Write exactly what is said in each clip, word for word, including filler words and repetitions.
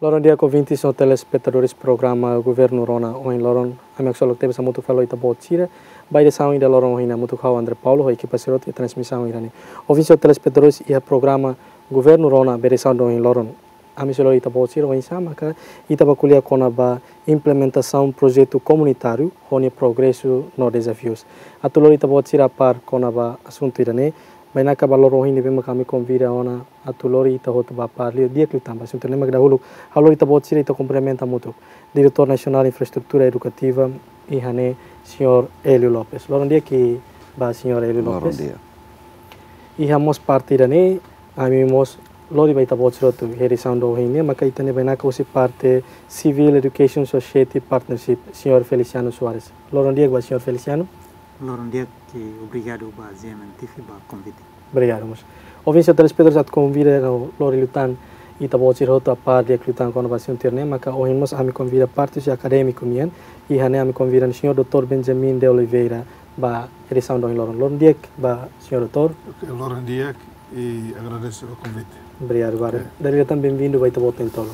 Loron di'ak, ouvintes no telespetadores programa Governu Rona ohin loron. Ami haksolok tebes hamutuk fali ho ita-boot sira ba edisaun ida loron ohin, hamutuk ho André Paulo ho ekipa sira hotu iha transmisaun ida-ne'e. Ouvintes no telespetadores, iha programa Governu Rona ba edisaun ohin loron, ami sei lori ita-boot sira oinsá maka ita bá ko'alia kona-ba implementasaun projetu komunitáriu ho nia progresu no dezafius. Atu lori ita-boot sira a par kona-ba asuntu ida-ne'e, bainaka ba loron ohin ne'ebé maka ami konvida ona atu lori ita hotu ba a par liu, di'ak liután ba asuntu ne'e, mak dahuluk ha'u lori ita-boot sira, ita kumprimenta hamutuk Diretór Nasionál Infraestrutura Edukativa iha ne'e, Señór Hélio Lopes. Loron di'ak ba Señór Hélio Lopes. Loron di'ak. Iha mós parte ida-ne'e, ami mós lori ba ita-boot sira hotu iha edisaun ohin ne'e, maka ita-nia bainaka husi parte Civil Education Society Partnership, Señór Feliciano Soares. Loron di'ak ba Señór Feliciano. Loron di'ak, i obrigadu ba G M N T V ba konvite. Obrigadu mós. Ouvintes no telespetadores, atu konvida no lori liután ita-boot sira hotu a par di'ak liután kona-ba asuntu ida-ne'e, maka ohin mós ami konvida parte husi akadémiku nian, iha ne'e ami konvida Señór doutór Benjamin de Oliveira ba edisaun ohin loron. Loron di'ak ba Señór doutór. Oke, loron di'ak, i agradesu o konvite. Obrigadu barak. Oke. Dala ida tan benvindu ba Ita-Boot Ohin Tolu.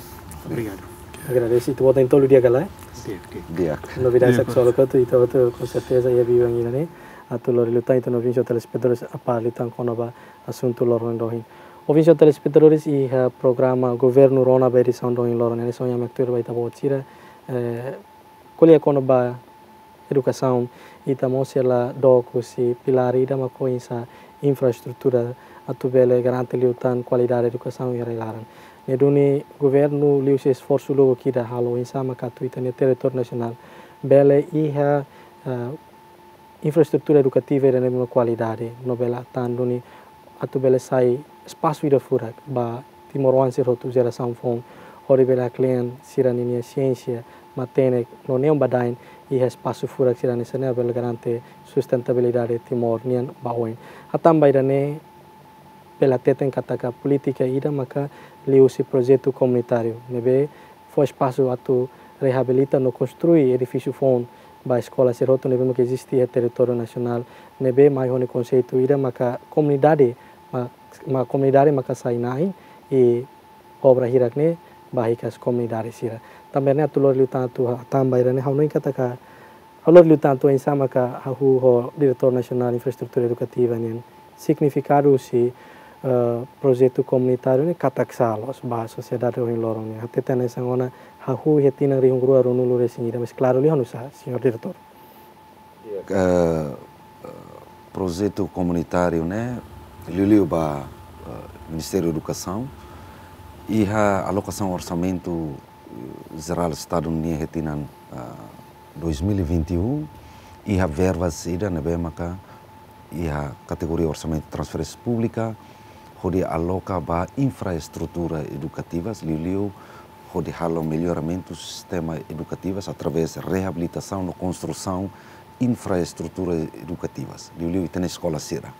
Obrigadu. Agradese. Ita-Boot Ohin Tolu di'ak ka lae? Di'ak, di'ak. Di'ak. Novidade Di'ak, sak solo kotu, ita hotu ho serteza iha biban ida-ne'e atu lori liután ita-nia ouvintes no telespetadores a par liután kona-ba asuntu loron ohin. Ouvintes no telespetadores, iha programa Governu Rona ba edisaun ohin loron, hanesan ohin ami hatudu ba ita-boot sira, eh, ko'alia kona-ba edukasaun, ita mós sei la dook husi pilár ida mak oinsá infraestrutura atu bele garante liután kualidade edukasaun iha rai-laran. Ne'e duni governu liuhusi esforsu lubuk ida halo oinsá maka atu ita-nia territóriu nasionál bele iha, eh, infraestrutura edukativa ida ne'ebé mak kualidade, no bele atu duni atu bele sai espasu ida furak ba timoroan sira hotu, jerasaun foun, hodi bele haklean sira-ninia siénsia, matenek no neon badain iha espasu furak sira hanesan ne'e, bele garante sustentabilidade Timor nian ba oin. Hatán ba ida-ne'e bele hateten katak polítika ida maka liuhusi projetu komunitáriu ne'ebé fó espasu atu reabilita no konstrui edifísiu foun ba eskola sira hotu ne'ebé maka eziste iha territóriu nasionál, ne'ebé mai ho nia konseitu ida maka komunidade, ma-, ma komunidade maka sai na'in, i obra hirak ne'e ba hikas komunidade sira. Tanba ne'e atu lori liután atu hatán ba ida-ne'e, ha'u hanoin katak, ha'u lori liután atu oinsá maka hahú ho Diretór Nasionál Infraestrutura Edukativa nian signifikadu husi, eh, projetu komunitáriu ne'e katak sá loos ba sosiedade ohin loron nian. Hateten hanesan ona hahú iha tinan rihun rua ruanulu resin ida, mas klaru liu ha'u nusá, Señór Diretór? Eh, eh, projetu komunitáriu ne'e liuliu ba, eh, Ministériu Edukasaun iha alokasaun orsamentu, eh, jerál Estadu nian iha tinan, eh, dois mil e vinte e um, iha verbas ida ne'ebé maka iha kategoria orsamentu transferénsia públika, hodi aloka ba infraestrutura edukativas, liuliu hodi halo melloramentu sistema edukativas através reabilitasaun no konstrusaun infraestrutura edukativas, liuliu ita-nia eskola sira.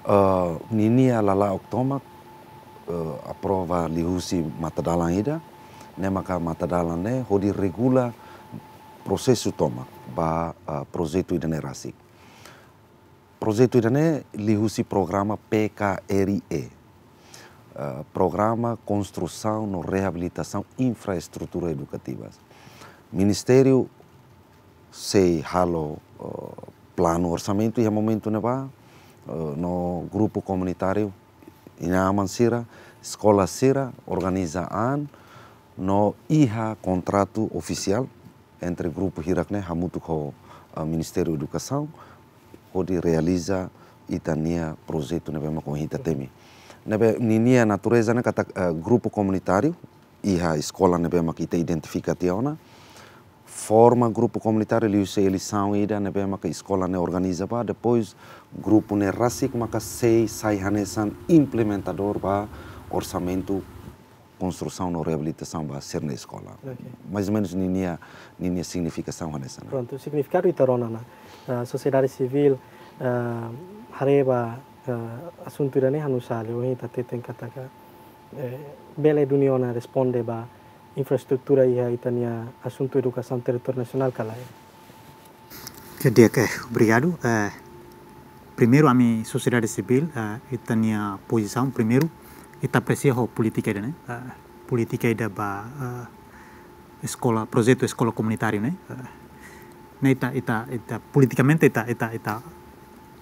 Eh, ninia lala'ok tomak, eh, aprova liuhusi matadalan ida, ne'e maka matadalan ne'e hodi regula prosesu tomak ba, eh, projetu ida-ne'e rasik. Projetu ida-ne'e liuhusi programa P K R I E, eh, Programa Konstrusaun no Reabilitasaun Infraestrutura Edukativas. Ministériu sei halo, eh, planu orsamentu iha momentu ne'ebá, eh, no grupu komunitáriu, inan-aman sira, eskola sira, organiza an, no iha kontratu ofisiál entre grupu hirak ne'e hamutuk ho, eh, Ministériu Edukasaun, hodi realiza ita-nia projetu ne'ebé mak ohin ita temi. Ne'ebé ninia natureza ne'e katak, eh, grupu komunitáriu, iha eskola ne'ebé mak ita identifika tiha ona, forma grupu komunitáriu liuhusi eleisaun ida ne'ebé maka eskola ne'e organiza ba, depois grupu ne'e rasik maka sei sai hanesan implementadór ba orsamentu konstrusaun no reabilitasaun ba sira-nia eskola. Oke. Mais ou menus ninia, ninia signifikasaun hanesan ne'e. Prontu, signifikadu ita rona ona, ah, sosiedade sivíl, ah, haree ba, ah, asuntu ida-ne'e ha'u nusá, ohin ita hateten katak, eh, bele duni ona responde ba infraestrutura iha ita-nia asuntu edukasaun territóriu nasionál ka lae? Oke, di'ak, eh, obrigadu. Eh, primeiru, ami sosiedade sivíl, eh, ita-nia pozisaun, primeiru, ita apresia ho polítika ida-ne'e, eh, polítika ida ba, eh, eskola, projetu eskola komunitáriu ne'e. Eh, ne'e ita, ita, ita, politikamente ita, ita, ita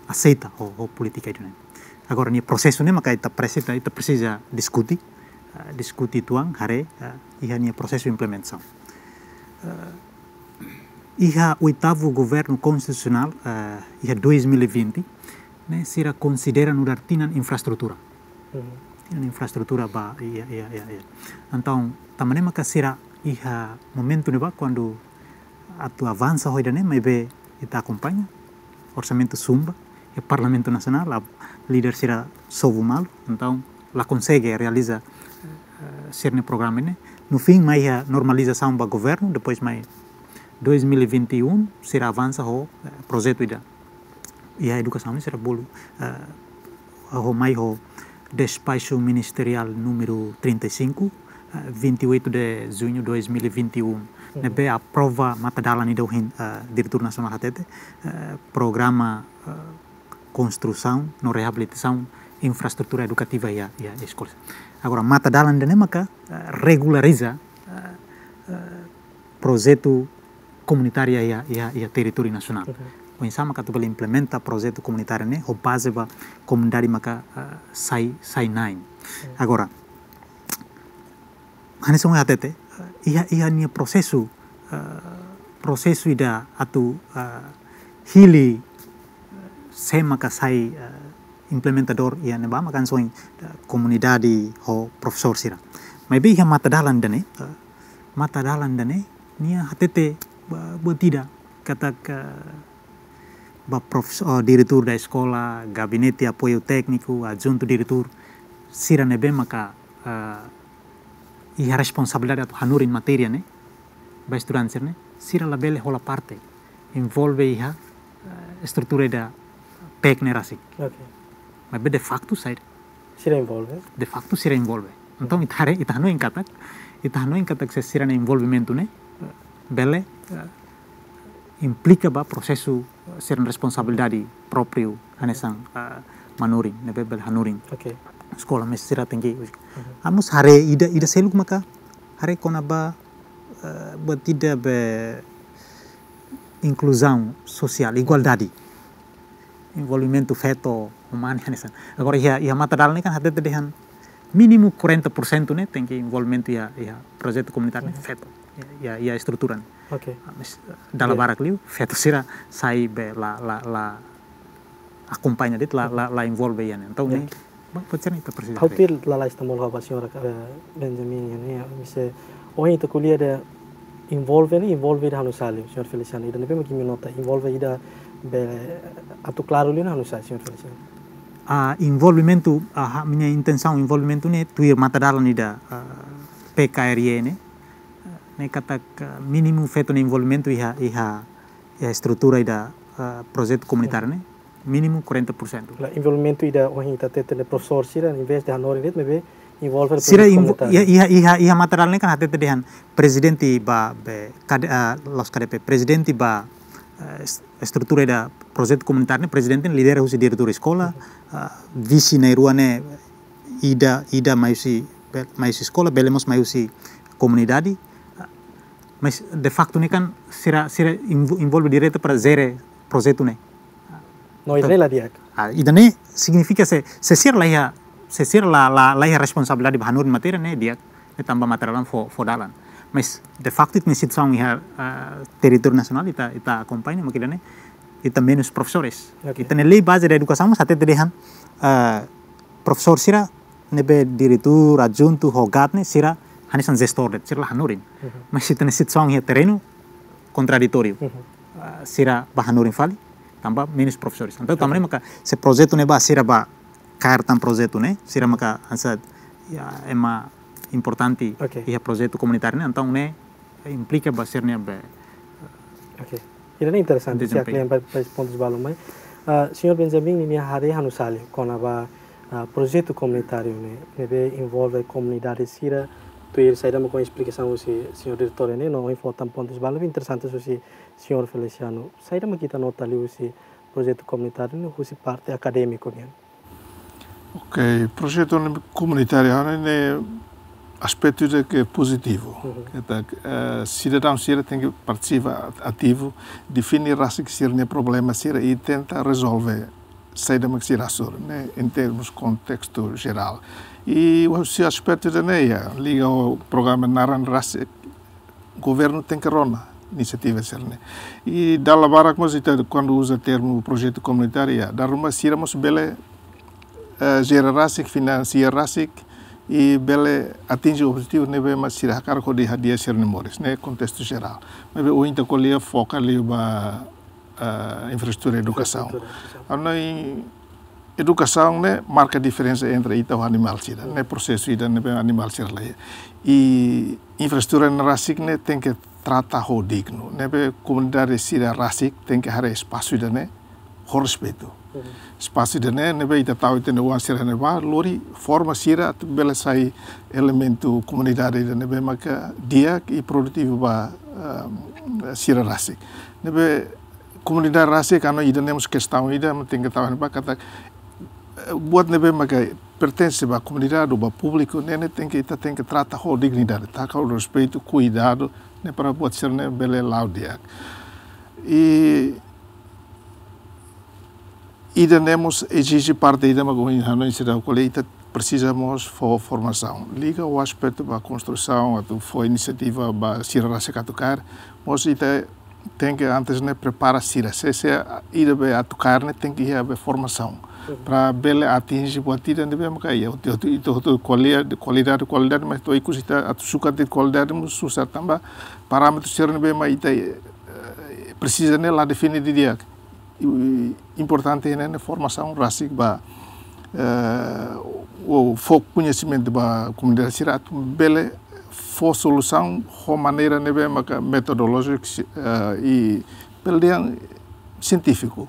aseita ho, ho polítika ida ne'e. Agora, nia prosesu ne'e maka ita presiza, ita presiza diskute, eh, diskute uitoan, haree, eh, iha nia prosesu implementasaun. Eh, iha oitavu governu konstitusionál, eh, iha dois mil e vinte, ne'e sira konsidera nu'udar tinan infraestrutura. Mhm. Tinan infraestrutura ba, iha, iha, iha, iha. Entaun, tanba ne'e maka sira iha momentu ne'ebá kuandu atu avansa ho ida-ne'e, maibé ita akompaña, orsamentu sumba, iha Parlamentu Nasionál, a, líder sira sobu malu, entaun la konsege realiza, eh, sira-nia programa ne'e. No fim, mai iha normalizasaun ba governu, depois mai dois mil e vinte e um, sira avansa ho, eh, projetu ida. Iha edukasaun sira bolu, eh, ho mai ho despaxu ministeriál númeru trinta e cinco, eh, vinte e oito de junho dois mil e vinte e um. Mhm. Ne'ebé aprova matadalan ida ohin, eh, Diretór Nasionál hatete, eh, programa, eh, konstrusaun no reabilitasaun infraestrutura edukativa iha, iha eskola. Agora, matadalan ida-ne'e maka, eh, regulariza, eh, eh, projetu komunitáriu iha, iha, iha territóriu nasionál. Mhm. Oinsá maka atu bele implementa projetu komunitáriu ne'e, ho baze ba komunidade maka, eh, sai, sai na'in. Mhm. Agora, hanesan ohin hatete, eh, iha, iha nia prosesu, eh, prosesu ida atu, eh, hili, eh, sé maka sai, eh, implementadór iha ne'ebá maka hanesan ohin, eh, komunidade ho profesór sira. Maibé iha matadalan ida-ne'e, eh, matadalan ida-ne'e, nia hatete ba, buat ida, katak, eh, ba profes-, oh, diretór da eskola, gabinete apoiu tékniku, adjuntu diretór, sira ne'ebé maka, eh, iha responsabilidade atu hanorin matéria ne'e, ba estudante sira ne'e, sira labele hola parte, envolve iha, eh, estrutura ida pek ne'e rasik. Oke. Maibé de facto saida? Sira envolve. De facto sira envolve. Entaun, ita haree, ita hanoin katak, ita hanoin katak se sira-nia envolvimentu ne'e, eh, bele, eh, implika ba prosesu, eh, sira-nia responsabilidade própriu, hanesan, eh, manorin, ne'ebé bele hanorin. Oke. Eskola, mais sira tenke. Mhm. Ami mós haree ida, ida seluk maka, haree kona-ba, eh, buat ida be inkluzaun sosiál, igualdade. Envolvimentu feto, umanu, hanesan. Agora, iha, iha matadalan ne'e kan hatete dehan mínimu quarenta por cento ne'e tenke envolvimentu iha, iha projetu komunitáriu ne'e, mhm, feto. Iha, iha, iha estrutura ne'e. Oke. Ah, mais, dala, iya, barak liu, feto sira sai be la, la, la akompaña de'it, la, la, la envolve iha ne'e. Entaun, iya, ne'e, ba, pode ser ne'e ita presiza. Ha'u tuir lalais tan molhau ba señór, eh, Benjamin, ne'e, imi sei, ohin ita ko'alia dehan envolve ne'e, envolve ida halo saida, señór Feliciano. Ida ne'ebé mak imi nota, envolve ida be atu klaru liu ne'e halo saida, señór Feliciano? Ah, envolvimentu, ah, ha'u-nia intensaun envolvimentu ne'e, tuir matadalan ida, ah, P K R I E ne'e, ne'e katak, ah, mínimu feto nia envolvimentu iha, iha, iha estrutura ida, ah, projetu komunitáriu ne'e, mínimu quarenta por cento. La, envolvimentu ida ohin ita hatete ne'e profesór sira, em vez de hanorin de'it, maibé envolve sira projetu invo-, komunitáriu. Iha, iha, iha, iha matadalan ne'e kan hatete dehan prezidente ba, be, KD, ah, la'ós K D P, prezidente ba, eh, es-, estrutura ida projetu komunitáriu ne'e, prezidente lidera husi diretór eskola, mhm, ah, vise na'in-rua ne'e ida, ida mai husi, be-, mai husi eskola, bele mós mai husi komunidade. Ah, mais, de facto, ne'e kan sira, sira invo-, envolve direta para jere projetu ne'e. No, ida-ne'e la di'ak. Ah, ida-ne'e signifika se, se sira la iha, se sira la, la, la iha responsabilidade ba hanorin matéria ne'e di'ak, ne'e tanba materiál fó, fó dalan. Mais, de facto, ita-nia situasaun iha, ah, territóriu nasionál, ita, ita akompaña, mak ida-ne'e, ita menus profesores. Oke. Ita-nia lei baze da edukasaun, mós hatete dehan, ah, profesór sira, ne'ebé diretór, adjuntu, ho GAD ne'e, sira, hanesan jestór de'it, sira la hanorin. Mhm. Mais, ita-nia situasaun iha terrenu, kontraditóriu. Mhm. Ah, sira bá hanorin fali, tanba menus profesores. Entaun, tanba ne'e maka se projetu ne'e bá, sira bá kaer tan projetu ne'e, sira maka hanesan, ya, ema importante, oke, iha projetu komunitáriu ne'e, entaun ne'e implika ba sira-nia be. Oke. Ida-ne'e interesante, se desempeñu. Aklian ba, ba pontus balu mai. Ah, señór Benjamin, ninia haree halo saida kona-ba, ah, projetu komunitáriu ne'e, ne'ebé envolve komunidade sira, tuir saida mak esplikasaun husi señór diretór ne'e, no ohin fó tan pontus balu, interesante husi señór Feliciano. Saida mak ita nota liu husi projetu komunitáriu ne'e husi parte akadémiku nian? Ok, projetu ne'e komunitáriu ne'e, ne'e aspetu ida ke pozitivu. Uhum. Katak, eh, sidadaun sira tenke partisipa at-, ativu, define rasik sira-nia problema sira i tenta rezolve saida mak sira hasoru, ne'e, em termos kontestu jerál. I husi aspetu ida-ne'e, ya, liga ho programa naran rasik, governu tenke rona inisiativa sira-ne'e. I dala barak mós ita kuandu uza termu projetu komunitáriu, ya, dala ruma sira mós bele, eh, jere rasik, finansia rasik, i bele atinje objetivu ne'ebé mak sira hakarak hodi hadi'a sira-nia moris, ne'e kontestu jerál. Maibé ohin ita ko'alia foka liu ba, eh, infraestrutura edukasaun. Infraestrutura edukasaun. Hanoin edukasaun ne'e marka diferensa entre ita ho animál sira, ne'e prosesu ida ne'ebé animál sira la iha. I infraestrutura ne'e rasik ne'e tenke trata ho dignu, ne'ebé komunidade sira rasik tenke haree espasu ida-ne'e ho respeitu. Mhm. Espasu ida-ne'e, ne'ebé ita tau ita-nia oan sira ne'ebá, lori forma sira atu bele sai elementu komunidade ida ne'ebé maka di'ak i produtivu ba, ehm, sira rasik. Ne'ebé komunidade rasik, hanoin ida-ne'e mós kestaun ida mak tenke tau iha ne'ebá katak, eh, buat ne'ebé maka pertense ba komunidade ou ba públiku, ne'e, ne'e tenke, ita tenke trata ho dignidade, taka ho respeitu, kuidadu, ne'e para buat sira-ne'e bele la'o di'ak. I ida-ne'e mós ezije parte ida mak ohin hanoin seidauk ko'alia, ita presiza mós fó formasaun. Liga ho aspetu ba konstrusaun, atu fó inisiativa ba sira rasik atu kaer, mós ita tenke antes ne'e prepara sira. Se, se ida be atu kaer ne'e tenke iha be formasaun. Mhm. Para bele atinje buat ida ne'ebé maka iha, hotu, hotu, hotu, hotu kualidade, kualidade, kualidade, mas to'o ikus ita atu sukat de'it kualidade mós susar tanba parámetru sira ne'ebé mak ita, eh, presiza ne'e la define didi'ak. I, i importante ne'e, ne'e formasaun rasik ba, eh, ou fó koñesimentu ba komunidade sira atu bele fó solusaun ho maneira ne'ebé maka metodolójiku, eh, i bele dehan sientífiku.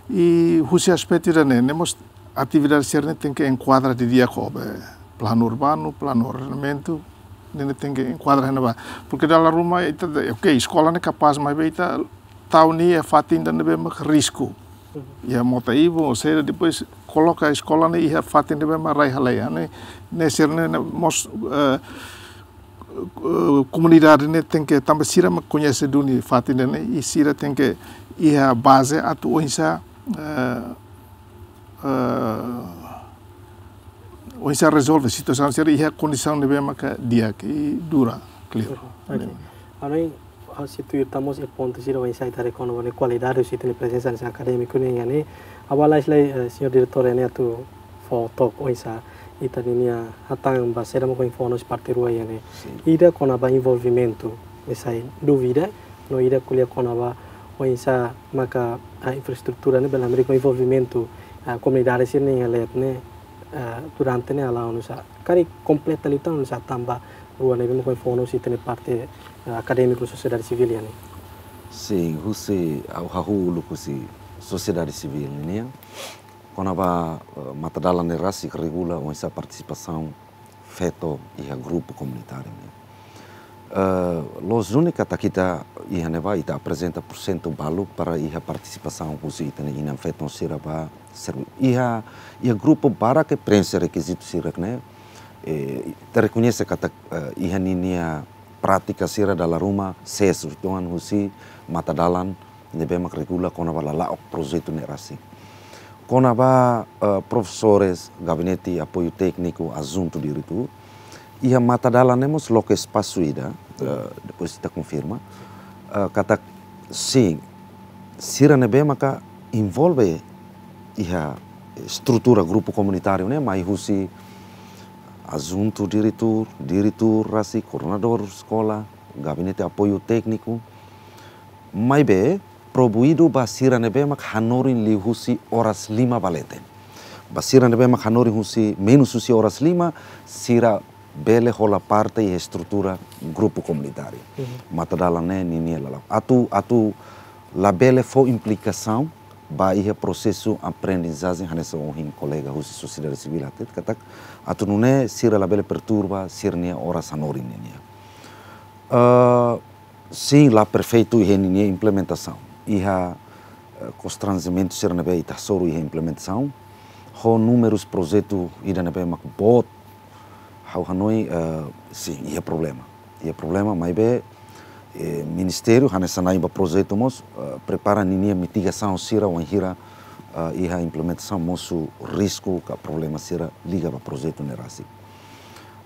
I husi aspetu ida-ne'e, ne'e mós atividade sira-ne'e tenke enkuadra didi'ak ho be planu urbanu, planu ordenamentu, ne'e, ne'e tenke enkuadra iha ne'ebá. Porque dala ruma ita, ok, eskola ne'e kapás, maibé ita tau nia iha fatin ida ne'ebé mak risku. Mhm. Iha mota ibun, ou seja, depois koloka eskola ne'e iha fatin ne'ebé mak rai hale'u, ne'e, ne'e sira-ne'e, ne'e mós, eh, eh, komunidade ne'e tenke, tanba sira mak koñese duni fatin ne'e, i sira tenke iha baze atu oinsá, eh, eh, oinsá rezolve situasaun sira iha kondisaun ne'ebé maka di'ak i dura, klaru. Ok. Hanoin, ha'u sei tuir tan mós iha pontu sira oinsá ita haree kona-ba ne'e kualidade husi ita-nia prezensa hanesan akadémiku nian, ne'e. Ha'u halai lai, eh, señór diretór ne'e atu fó took oinsá ita ninia hatán ba saida mak ohin fó ona husi parte rua nian ne'e. Sin. Ida kona-ba envolvimentu, ne'e sai dúvida, no ida ko'alia kona-ba oinsá maka, ah, infraestrutura ne'e bele hamriik ho envolvimentu, ah, komunidade sira-nia leet ne'e, ah, durante ne'e hala'o oinsá. Karik kompleta liután oinsá tanba rua ne'ebé mak ohin fó ona husi ita-nia parte, ah, akadémiku, sosiedade sivíl nian ne'e. Sin, husi, ha'u hahú uluk husi sosiedade sivíl nian. Kona-ba, eh, matadalan ne'e rasik regula oinsá partisipasaun feto iha grupu komunitáriu ne'e. Eh, loos duni katak ita iha ne'ebá ita aprezenta porsentu balu para iha partisipasaun husi ita-nia inan-feton sira ba servi-, iha, iha grupu barak ke preenxe rekizitu sira ne'e, eh, ita rekoñese katak, eh, iha ninia prátika sira dala ruma sees uitoan husi matadalan ne'ebé mak regula kona-ba lala'ok projetu ne'e rasik. Kona-ba, eh, profesores, gabinete apoiu tékniku, adjuntu diretór, iha matadalan ne'e mós loke espasu ida, eh, depois ita konfirma, eh, katak sin, sira ne'ebé maka envolve iha estrutura grupu komunitáriu ne'e, mai husi adjuntu diretór, diretór rasik, koordenadór eskola, gabinete apoiu tékniku, maibé proibidu ba sira ne'ebé mak hanorin liuhusi oras lima ba leten. Ba sira ne'ebé mak hanorin husi, menus husi oras lima, sira bele hola parte iha estrutura grupu komunitáriu. Mhm. Matadalan ne'e ninia lala'ok. Atu, atu labele fó implikasaun ba iha prosesu aprendizajen hanesan ohin kolega husi sosiedade sivíl hateten katak atu nune'e sira labele perturba sira-nia oras hanorin nian. Eh, sin, la perfeitu iha ninia implementasaun. Iha, eh, konstranjementu sira ne'ebé ita hasoru iha implementasaun. Ho númerus projetu ida ne'ebé mak boot Ha'u hanoin, eh, sin, iha problema. Iha problema, maibé, eh, ministériu hanesan na'in ba projetu mós, eh, prepara ninia mitigasaun sira wainhira, eh, iha implementasaun mosu risku ka problema sira liga ba projetu ne'e rasik.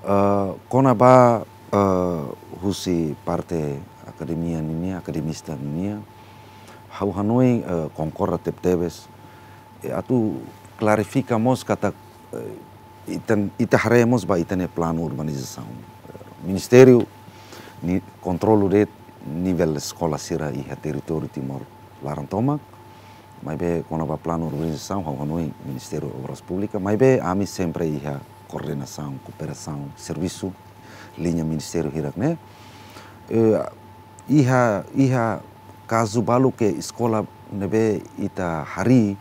Eh, kona-ba, eh, husi parte akademia ninia, akademista ninia, ha'u hanoin, eh, konkorda tebetebes, eh, atu klarifika mós katak, eh, ita, ita haree mós ba ita-nia planu urbanizasaun. Eh, ministériu nia kontrolu de'it nivel eskola sira iha territóriu Timor laran tomak, maibé kona-ba planu urbanizasaun, ha'u hanoin Ministériu Obras Públikas, maibé ami sempre iha koordenasaun, kooperasaun, servisu liña ministériu hirak ne'e. Eh, iha, iha kazu balu ke eskola ne'ebé ita harii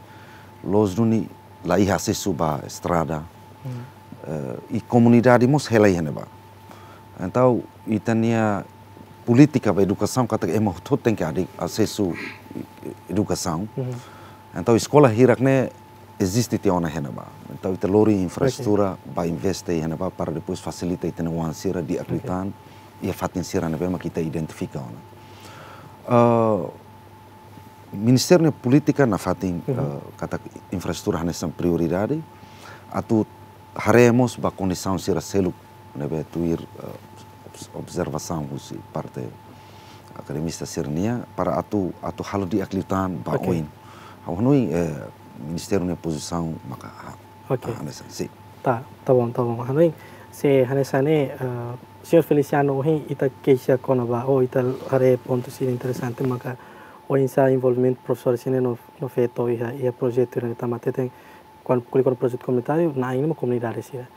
loos duni la iha asesu ba estrada. Hmm. Eh, i komunidade mós hela iha ne'ebá. Entaun, ita-nia polítika ba edukasaun katak ema hotu-hotu tenke iha asesu edukasaun. Hmm. Entaun, eskola hirak ne'e eziste tiha ona iha ne'ebá. Entaun, ita lori infraestrutura, oke, ba investe iha ne'ebá para depois fasilita ita-nia oan sira di'ak liután iha fatin sira ne'ebé mak ita identifika ona. Eh, Ministériu nia polítika nafatin, mhm, eh, katak infraestrutura hanesan prioridade, atu haree mós ba kondisaun sira seluk ne'ebé tuir, eh, obs-, observasaun husi parte akademista sira-nian para atu, atu halo di'ak liután ba, oke, oin. Ha'u hanoin, eh, ministériu nia pozisaun maka ha-, oke, ah, hanesan, sin. Tá, tá bom, tá bom. Hanoin, se hanesan ne'e, eh, señór Feliciano, ohin ita keixa kona-ba, ou ita haree pontu sira interesante, maka oinsá envolvimentu profesór sira-ne'e no, no feto iha, iha projetu ne'e tanba hateten, kuandu ko'alia kona-ba projetu komunitáriu, na'in ne'e mak komunidade sira.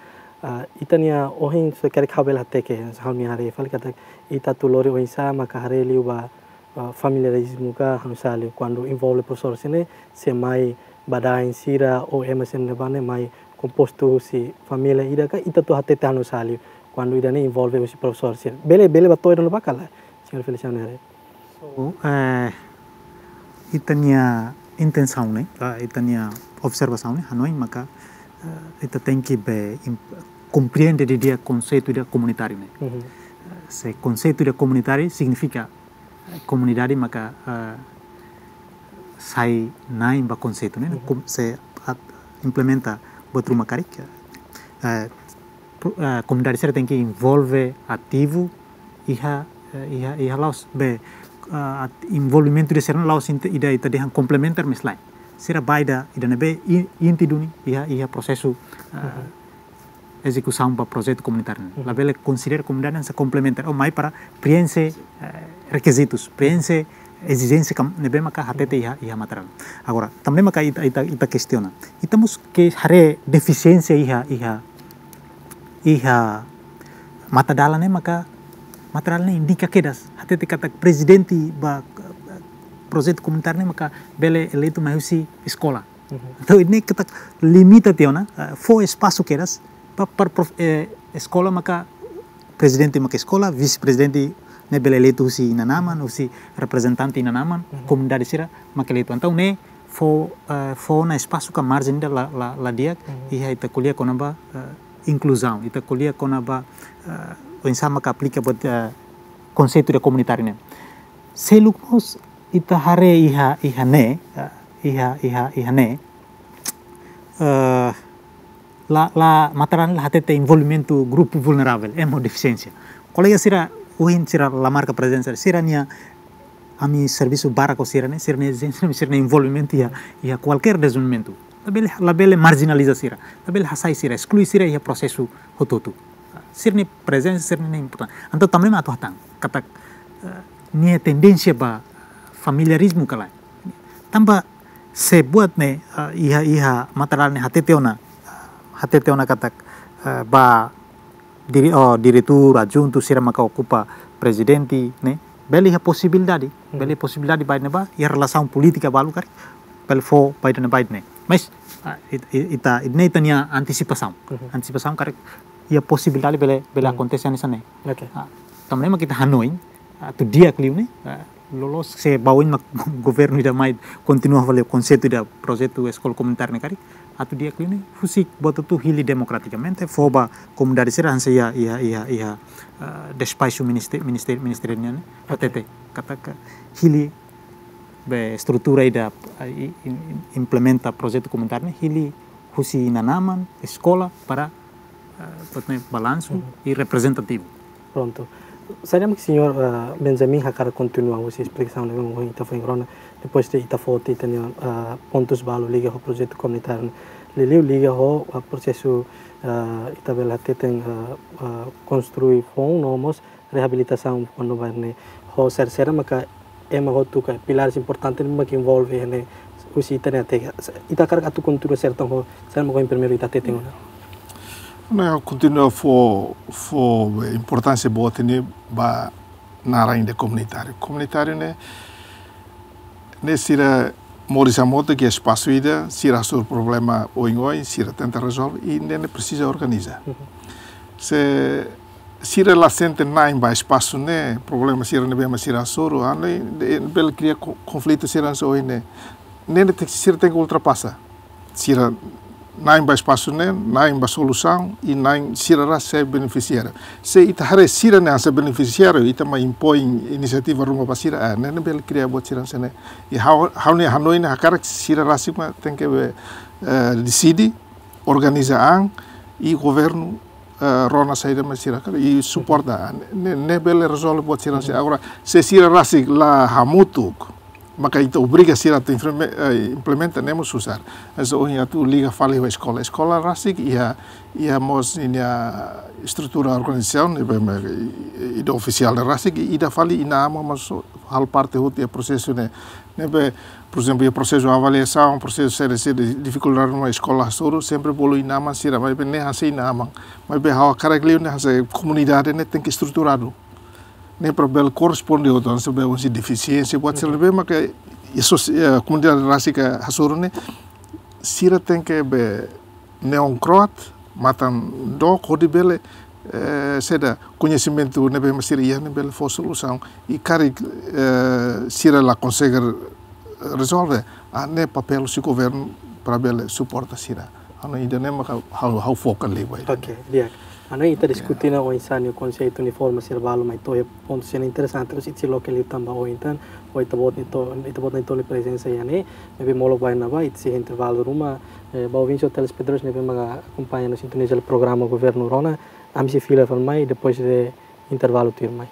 Ah, ita-nia ohin só karik ha'u bele hateke, ha'u-nia haree fali katak ita atu lori oinsá maka haree liu ba, ah, familiarizmu ka ha'u sali kuandu envolve profesór sira-ne'e, se mai badaen sira ou ema sira ne'ebá ne'e mai kompostu husi família ida ka ita atu hatete ha'u sali kuandu ida-ne'e envolve husi profesór sira. Bele, bele ba to'o ida-ne'ebá ka lae, señór Feliciano haree? So, eh, ita-nia intensaun ne'e, ah, ita-nia observasaun ne'e, hanoin maka, eh, ita tenke be im-, komprende didi'ak konseitu ida komunitáriu ne'e. Mhm. Eh, se konseitu ida komunitáriu signifika, eh, komunidade maka, eh, sai na'in ba konseitu ne'e, mhm, kom-, se at-, implementa buat ruma karik, eh, pro-, eh, komunidade sira tenke envolve ativu iha, eh, iha, iha la'ós be, eh, at-, envolvimentu ida sira-ne'e la'ós inte-, ida ita dehan komplementar, mas lae. Sira ba ida, ida ne'ebé i-, inti duni iha, iha prosesu, eh, mhm, ezekusaun ba projetu komunitáriu ne'e. Mhm. Labele konsidera komunidade hanesan komplementar, ou mai para prienxe, eh, rekizitus, prienxe ezijénsia kam-, ne'ebé maka hatete iha, iha materiál. Agora, tanba ne'e maka ita, ita, ita kestiona. Ita mós ke haree defisiénsia iha, iha, iha matadalan ne'e maka matadalan ne'e indika kedas. Hatete katak prezidente ba, eh, projetu komunitáriu ne'e maka bele eleitu mai husi eskola. Mhm. Entaun, ne'e katak limita tiha ona, eh, fó espasu kedas ba, para prof-, eh, eskola maka prezidente maka eskola, vise-prezidente ne'e bele eleitu husi inan-aman, husi reprezentante inan-aman, mhm, komunidade sira maka eleitu. Entaun, ne'e fó, eh, fó ona espasu ka marjen ida la, la, la di'ak, mhm, iha ita ko'alia kona-ba, eh, inkluzaun, ita ko'alia kona-ba, eh, oinsá maka aplika buat, eh, konseitu ida komunitáriu ne'e. Seluk mós ita haree iha, iha ne'e, eh, iha, iha, iha ne'e, eh, la, la, matadalan la hatete envolvimentu grupu vulneravel, ema ho defisiénsia. Kolega sira, ohin sira la marka prezensa, sira-nia, ami servisu barak ho sira-ne'e, sira-nia, sira-nia envolvimentu iha, iha kualkér dezenvolvimentu. Labele, labele marjinaliza sira, labele hasai sira, esklui sira iha prosesu hotu-hotu. Sira-nia prezensa, sira-ne'e importante. Entaun, tanba ne'e mak atu hatán katak, eh, nia tendénsia ba familiarizmu ka lae. Tanba se buat ne'e, eh, iha, iha matadalan ne'e hatete ona, hatete ona katak, eh, ba dire-, oh, diretór adjuntu sira maka okupa prezidente ne'e, bele iha posibilidade, hmm, bele posibilidade ba ida-ne'ebá, iha relasaun polítika balu karik, bele fó ba ida-ne'e, ba ida-ne'e. Mas, ah, it-, it-, ita, ida-ne'e ita-nia antisipasaun. Mhm. Antisipasaun karik, iha posibilidade bele, bele, hmm, akontese hanesan ne'e. Oke. Ah, tanba ne'e mak ita hanoin, ah, atu di'ak liu ne'e, ah, loloos se ba oin mak governu ida mai kontinua fali konseitu ida projetu eskola komunitáriu ne'e karik, Atu di'ak liu ne'e, husik buat hotu hili demokratikamente, fó ba komunidade sira hanesan iha, iha, iha, iha, eh, despaxu ministériu, ministériu, ministériu nian ne'e, hatete, katak hili be estrutura ida, eh, i-, i-, implementa projetu komunitáriu ne'e, hili husi inan-aman, eskola, para, eh, buat ne'e balansu i reprezentativu. Prontu. Saida mak señór, eh, Benjamin hakarak kontinua husi esplikasaun ne'ebé mak ita foin rona, depois de ita foti ita-nia, eh, pontus balu liga ho projetu komunitáriu. Liuliu liga ho, eh, prosesu, eh, ita bele hateten, eh, eh, konstrui foun no mós reabilitasaun kuandu bairru ne'e. Ho sira-sira maka ema hotu ka pilares importante ne'ebé mak envolve ne'e husi ita-nia tega. Ita hakarak atu kontinua serta ho sira mak primeiru ita hateten ona. Ne'e kontinua fó, fó importánsia boot ne'e ba naran ida komunitáriu. Komunitáriu ne'e, ne'e sira moris hamutuk iha espasu ida, sira hasoru problema oioin, sira tenta rezolve, i ne'e, ne'e presiza organiza. Mhm. Se sira la sente na'in ba espasu ne'e, problema sira ne'ebé mak sira hasoru, ah, ne'e, ne'e bele kria ko-, konflitu sira hanesan ohin ne'e. Ne'e, ne'e tenke, sira tenke ultrapasa. Sira na'in ba espasu ne'e, na'in ba solusaun, i na'in sira rasik sai benefisiáriu. Se ita haree sira ne'e hanesan benefisiáriu, ita mak impoin inisiativa ruma ba sira, ah, ne'e, ne'e bele kria buat sira hanesan ne'e. I ha'u, ha'u-nia hanoin ne'e hakarak sira rasik mak tenke be, eh, deside, organiza an, i governu, eh, rona saida mak sira hakarak, i suporta an. Ne'e, ne'e bele rezolve buat sira hanesan ne'e. Agora, se sira rasik la hamutuk, maka ita obriga sira atu impleme-, eh, implementa, ne'e mós susar. Hanesan ohin atu liga fali ho eskola. Eskola rasik iha, iha mós ninia estrutura organizasaun, ne'ebé mak, i, i, ida ofisiál ne'e rasik, i ida fali inan-aman mós halo parte hotu iha prosesu ne'e. Ne'ebé, por ezemplu, iha prosesu avaliasaun, prosesu C D C, di-, difikuldade no eskola hasoru, sempre bolu inan-aman sira, maibé ne'e hanesan inan-aman. Maibé ha'u hakarak liu ne'e hanesan komunidade ne'e tenke estruturadu. Ne'e para bele korresponde ho tan sebe husi defisiénsia buat sira ne'ebé maka iha sosi-, eh, komunidade rasik hasoru ne'e, sira tenke be neon kroat, matan dook hodi bele, eh, saida, koñesimentu ne'ebé mak sira iha ne'e bele fó solusaun. I karik, eh, sira la konsege rezolve, ah, ne'e papél husi governu para bele suporta sira. Ha'u hanoin ida-ne'e maka ha'u, ha'u foka liu ba ida. Oke, di'ak. Ha'u hanoin ita diskuti ona oinsá nia konseitu nia forma sira balu mai to'o iha pontu sira interesante, terus ita sei loke liután ba oin tan, ho ita-boot nia to-, ita-boot nia toli prezensa iha ne'e, ne'ebé molok ba iha ne'ebá, ita sei intervalu ruma, eh, ba ouvinte ho telespetadores ne'ebé maka akompaña no sintoniza programa Governu Rona, ami sei fila fali mai, depois de intervalu tuirmai.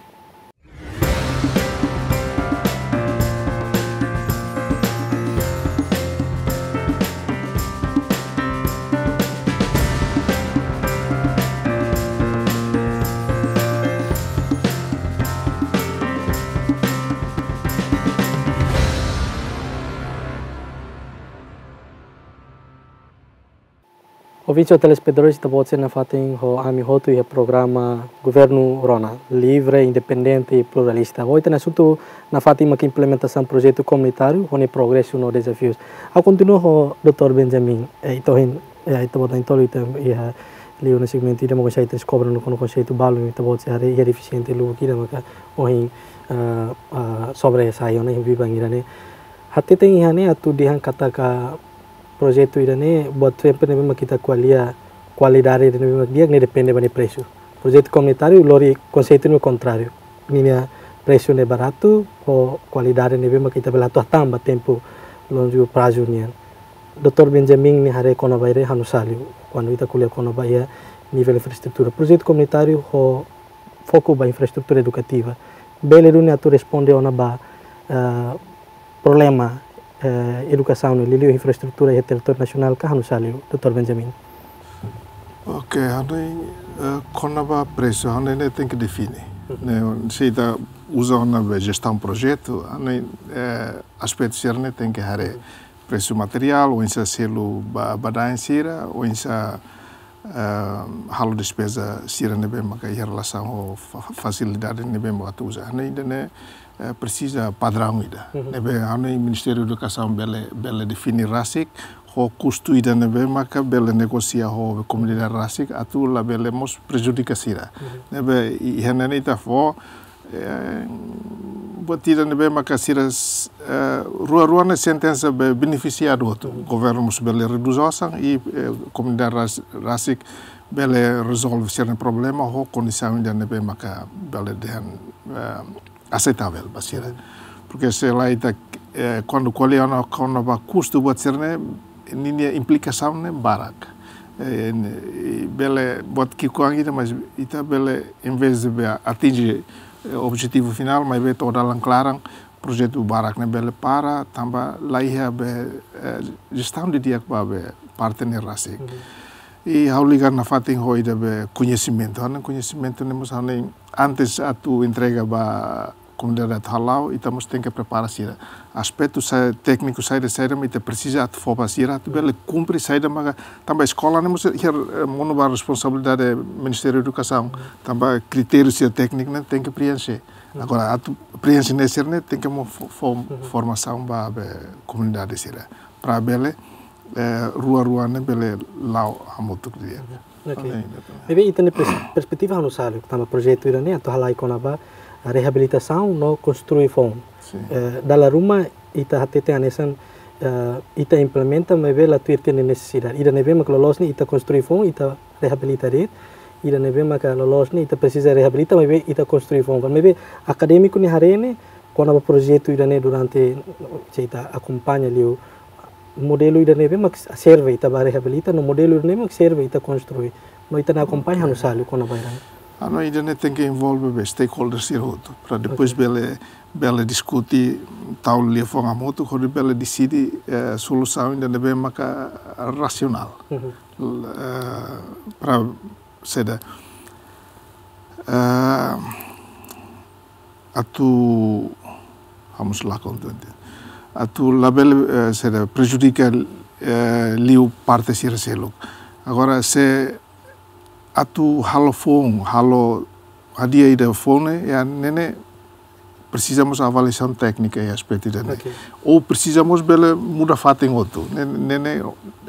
Ouvinte ho telespetadores, ita-boot sei nafatin ho ami hotu iha programa Governu Rona, livre, independente i pluralista. Ohin ita-nia asuntu nafatin mak implementasaun projetu komunitáriu, ho nia progresu no dezafius. Ha'u kontinua ho doutór Benjamin, eh, ita ohin, eh, ita-boot nia toli ita iha liu ona segmentu ida mak konseitu deskobre no kona konseitu balu, ita-boot sei haree iha defisiente lubuk ida maka ohin, eh, eh, sobressai ona iha biban ida-ne'e. Hateten iha ne'e atu dehan katak projetu ida-ne'e, buat sempre ne'ebé mak ita ko'alia, kualidade ida ne'ebé mak di'ak ne'e depende ba nia presu. Projetu komunitáriu lori konseitu ne'e kontráriu. Ninia presu ne'e baratu, ho kualidade ne'ebé mak ita bele atu hatán ba tempu longu prazu nian. Doutór Benjamin nia haree kona-ba ida-ne'e ha'u hanoin liu, kuandu ita ko'alia kona-ba iha nivel infraestrutura. Projetu komunitáriu ho foku ba infraestrutura edukativa. Bele duni atu responde ona ba, eh, problema, eh, edukasaun no liuliu infraestrutura iha territóriu nasionál ka ha'u hanoin liu, doutór Benjamin? Oke, ha'u hanoin, eh, kona-ba presu, ha'u hanoin ne'e tenke define. Mhm. Ne'e, se ita uza ona be jestaun projetu, ha'u hanoin, eh, aspetu sira-ne'e tenke haree. Presu materiál, oinsá selu ba, ba da'en sira, oinsá, eh, halo despeza sira ne'ebé maka iha relasaun ho fa-, fasilidade ne'ebé mak atu uza. Ha'u hanoin ida-ne'e, eh, presiza padraun ida. Mhm. Ne'ebé ha'u hanoin Ministériu Edukasaun bele, bele define rasik, ho kustu ida ne'ebé maka bele negosia ho komunidade rasik, atu labele mós prejudika sira. Mhm. Ne'ebé i-, iha ne'e ita fó, eh, Buat ida ne'ebé maka sira, eh, rua-rua ne'e sentensa be benefisiadu hotu. Governu mós bele redús osan i, eh, komunidade ras-, rasik bele rezolve sira-nia problema ho kondisaun ida ne'ebé maka bele dehan, eh, aseitável ba sira. Porque se lae ita, eh, kuandu ko'alia ona kona-ba kustu buat sira-ne'e, ninia implikasaun ne'e barak. Eh, ne'e, i bele buat ki'ikoan ida, mas ita bele, em vez de be atinje, eh, objetivu finál, maibé to'o dalan klaran, projetu barak ne'e bele para, tanba laiha be, eh, jestaun didi'ak ba be parte ne'e rasik. I ha'u liga nafatin ho ida be koñesimentu. Hanesan koñesimentu ne'e mós hanesan antes atu entrega ba komunidade atu hala'o, ita mós tenke prepara sira. Aspetu sa-, tékniku saida-saida mak ita presiza atu fó ba sira, atu bele kumpre saida maka, tanba eskola ne'e mós iha, eh, monu ba responsabilidade Ministériu Edukasaun, tanba kritériu sira tékniku ne'e tenke preenxe. Agora, atu preenxe ne'e sira-ne'e tenke mós fó, fó formasaun ba be komunidade sira. Para bele, eh, rua-rua ne'e bele la'o hamutuk didi'ak. Ok. Hanesan ne'e. Maibé ita-nia pers-, perspetiva ha'u hanoin, tanba projetu ida-ne'e atu halai kona-ba, ah, reabilitasaun no konstrui foun. Sin. Eh, dala ruma ita hatete hanesan, eh, ita implementa maibé la tuir tiha nia nesesidade. Ida ne'ebé maka loloos ne'e ita konstrui foun, ita reabilita de'it. Ida ne'ebé maka loloos ne'e ita presiza reabilita maibé ita konstrui foun. Maibé akadémiku nia haree ne'e kona-ba projetu ida-ne'e durante, se ita akompaña liu modelu ida ne'ebé mak serve ita ba reabilita, no modelu ida ne'ebé mak serve ita konstrui. No ita-nia akompaña ha'u hanoin kona-ba ida-ne'e. Hanesan ida-ne'e tenke envolve be stakeholders sira hotu, para depois bele, bele diskute, tau liafuan hamutuk, hodi bele deside, eh, solusaun ida ne'ebé maka rasionál. L-, eh, para saida, eh, atu, vamos lá, contente. Atu labele, eh, saida, prejudika, eh, liu parte sira seluk. Agora, se atu halo foun, halo hadi'a ida foun ne'e, iha ne'e ne'e presiza mós avaliasaun téknika iha aspetu ida-ne'e. Ok. Ou presiza mós bele muda fatin hotu. Ne'e, ne'e, ne'e,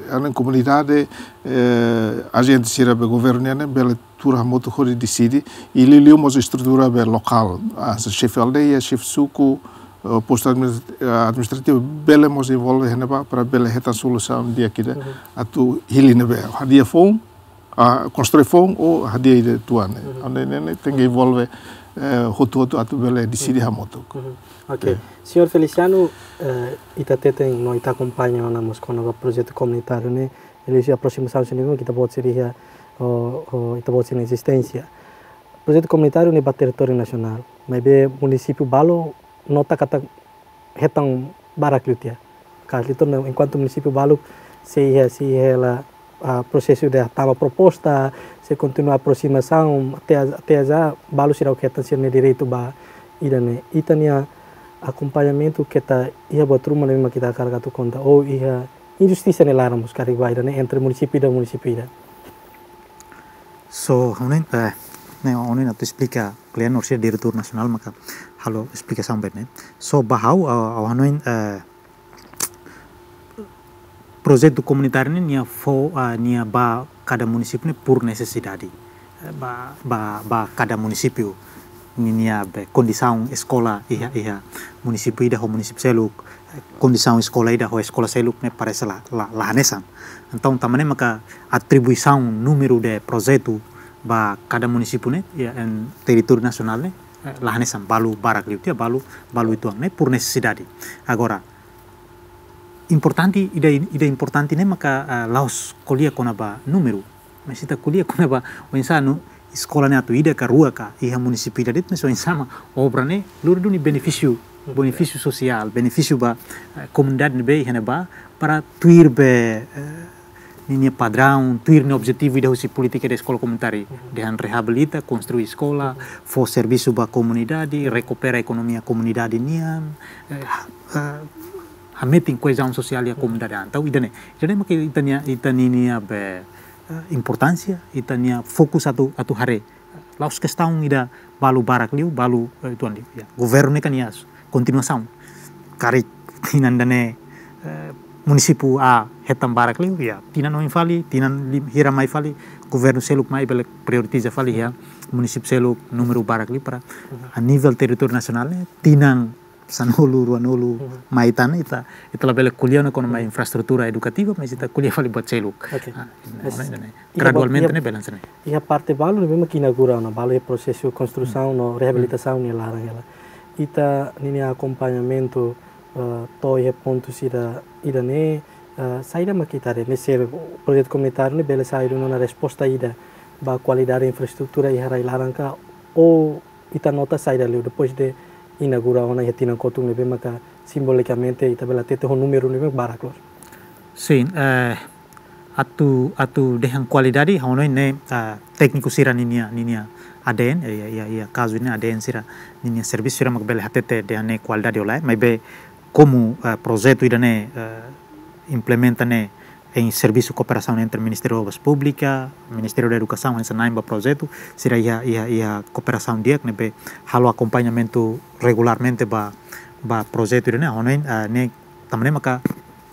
hanesan komunidade, eh, ajente sira be governu nian ne'e bele tuur hamutuk hodi deside, i liuliu mós estrutura be lokál, hanesan xefe aldeia, xefe suku, eh, postu administra-, eh, administrativu, bele mós envolve iha ne'ebá para bele hetan solusaun di'ak ida atu hili ne'ebé. Hadi'a foun, ah, konstrui foun ou hadi'a ida tuan ne'e. Hanesan ne'e, ne'e tenke envolve, eh, hotu-hotu atu bele deside hamutuk. Ok. Señór Feliciano, eh, ita hatene no ita akompaña ona mós kona-ba projetu komunitáriu ne'e, iha aproximasaun sira ne'ebé ita-boot sira iha, o, o, ita-boot sira-nia ezisténsia. Projetu komunitáriu ne'e ba territóriu nasionál, maibé munisípiu balu nota katak hetan barak liu tiha. Katak liu tiha, enkuantu munisípiu balu sei iha, sei iha hela, ah, prosesu de tama proposta, sei kontinua aproximasaun, até a, até a já balu seidauk hetan sira-nia direitu ba ida-ne'e. Ita-nia akompañamentu keta iha buat ruma ne'ebé mak ita hakarak atu konta, ou iha injustisa nia laran mós karik ba ida-ne'e entre munisípiu ida, munisípiu ida. So, ha'u hanoin, eh, ne'e ha'u hanoin atu esplika kle'an orsida diretór nasionál maka halo esplikasaun ba ne'e. So, ba ha'u, ah, ha'u hanoin, eh, projetu komunitáriu ne'e nia fó, ah, nia ba kada munisípiu ne'e por nesesidade. Eh, ba, ba, ba kada munisípiu ninia be kondisaun eskola iha, iha munisípiu ida ho munisípiu seluk, eh, kondisaun eskola ida ho eskola seluk ne'e parese la, la, la hanesan. Entaun, tanba ne'e maka atribuisaun númeru de projetu ba kada munisípiu ne'e, iha, iha territóriu nasionál ne'e, eh, la hanesan, balu barak liu tiha, balu, balu uitoan ne'e por nesesidade. Agora, importante, ida, ida importante ne'e maka, ah, la'ós ko'alia kona-ba númeru. Mas ita ko'alia kona-ba oinsá atu eskola ne'e atu ida ka rua ka iha munisípiu ida de'it, mas oinsá mak obra ne'e lori duni benefísiu, benefísiu sosiál, benefísiu ba, eh, komunidade ne'ebé iha ne'ebá, para tuir be, eh, ninia padraun, tuir nia objetivu ida husi polítika de eskola komunitária. Dehan reabilita, konstrui eskola, fó servisu ba komunidade, rekupera ekonomia komunidade nian, eh, ha-, eh, hametin koezaun sosiál iha komunidade. Entaun, ida-ne'e, ida-ne'e mak ita-nia, ita-nia be, eh, importánsia, ita-nia fokus atu, atu haree. La'ós kestaun ida balu barak liu, balu, eh, uitoan liu. Ya, governu ne'e kan iha kontinuasaun. Karik tinan ida-ne'e, eh, munisípiu A hetan barak liu, ya, tinan oin fali, tinan lim-, hira mai fali, governu seluk mai bele prioritiza fali, ya, munisípiu seluk númeru barak liu para a nivel territóriu nasionál ne'e tinan sanulu, ruanulu, mai tan ita, ita labele ko'alia ona kona-ba infraestrutura edukativa, mas ita ko'alia fali buat seluk. Oke. Ah, mas ne'e, ne'e, ne'e. Iha ba-, gradualmente iha, ne'e bele hanesan ne'e. Iha parte balu ne'ebé mak inaugura ona, balu iha prosesu konstrusaun no reabilitasaun nia laran hela. Ita ninia akompañamentu, eh, to'o iha pontu sira ida-ne'e, eh, saida mak ita haree, ne'e se projetu komunitáriu ne'e bele sai duni ona resposta ida ba kualidade infraestrutura iha rai-laran ka, ou ita nota saida liu depois de inaugura ona iha tinan kotuk ne'ebé maka simbolikamente ita bele hatete ho númeru ne'ebé barak loos? Sin, eh, atu, atu dehan kualidade, ha'u hanoin ne'e, ah, tékniku sira ninia, ninia A D N, eh, iha, iha, iha kazu ne'e A D N sira ninia servisu sira mak bele hatete dehan ne'e kualidade ou lae, maibé komu, eh, projetu ida-ne'e, eh, implementa ne'e em servisu kooperasaun entre Ministériu Obras Públikas, Ministériu da Edukasaun, hanesan na'in ba projetu, sira iha, iha, iha kooperasaun di'ak ne'ebé halo akompañamentu regularmente ba, ba projetu ida-ne'e, ha'u hanoin, eh, ne'e tanba ne'e maka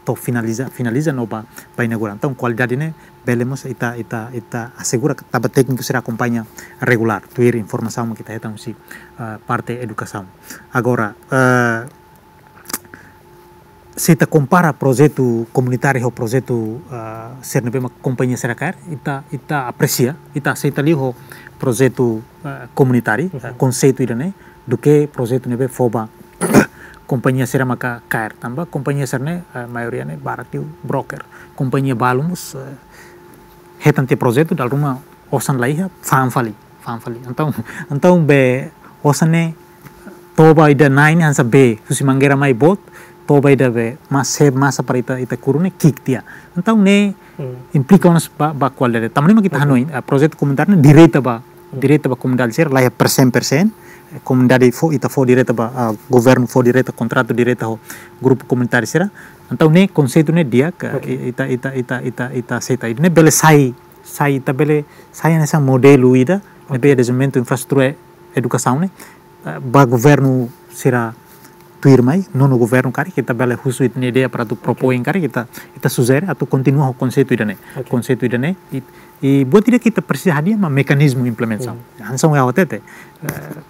to'o finaliza, finaliza no ba, ba inaugura. Entaun, kualidade ne'e bele mós ita, ita, ita asegura katak tékniku sira akompaña regulár, tuir informasaun mak ita hetan husi, eh, parte edukasaun. Agora, eh, se ita kompara projetu komunitáriu ho projetu, ah, sira ne'ebé mak kompañia sira kaer, ita, ita apresia, ita aseita liu ho projetu, ah, komunitáriu, ah, konseitu ida-ne'e, duké projetu ne'ebé fó ba kompañia sira maka kaer. Tanba kompañia sira-ne'e, ah, maioria ne'e barak liu broker. Kompañia balu mós, ah, hetan tiha projetu, dala ruma osan la iha, fa'an fali, fa'an fali. Entaun, entaun be osan ne'e toba ida na'in hanesan bee, husi mangeira mai boot, toba ida be, mas se masa para ita, ita kuru ne'e ki'ik tiha. Entaun ne'e implika ona ba, ba kualidade. Tanba ne'e mak ita hanoin, ah, projetu komunitáriu ne'e direta ba, direta ba komunidade sira, la iha persen persen, komunidade fó, ita fó direta ba, ah, governu fó direta, kontratu direta ho grupu komunitáriu sira. Entaun ne'e konseitu ne'e di'ak, ah, ita, ita, ita, ita, ita aseita. Ne'e bele sai, sai, ita bele sai hanesan modelu ida, ne'ebé dezenvolvimentu infraestrutura edukasaun ne'e, eh, ba governu sira tuirmai, nonu governu karik, ita bele husu ita-nia ideia para atu propoin karik, ita, ita sujere atu kontinua ho konseitu ida-ne'e. Konseitu ida-ne'e, i, i buat ida ke ita presiza hadi'a mak mekanizmu implementasaun. Hanesan ohin ha'u hatete, eh,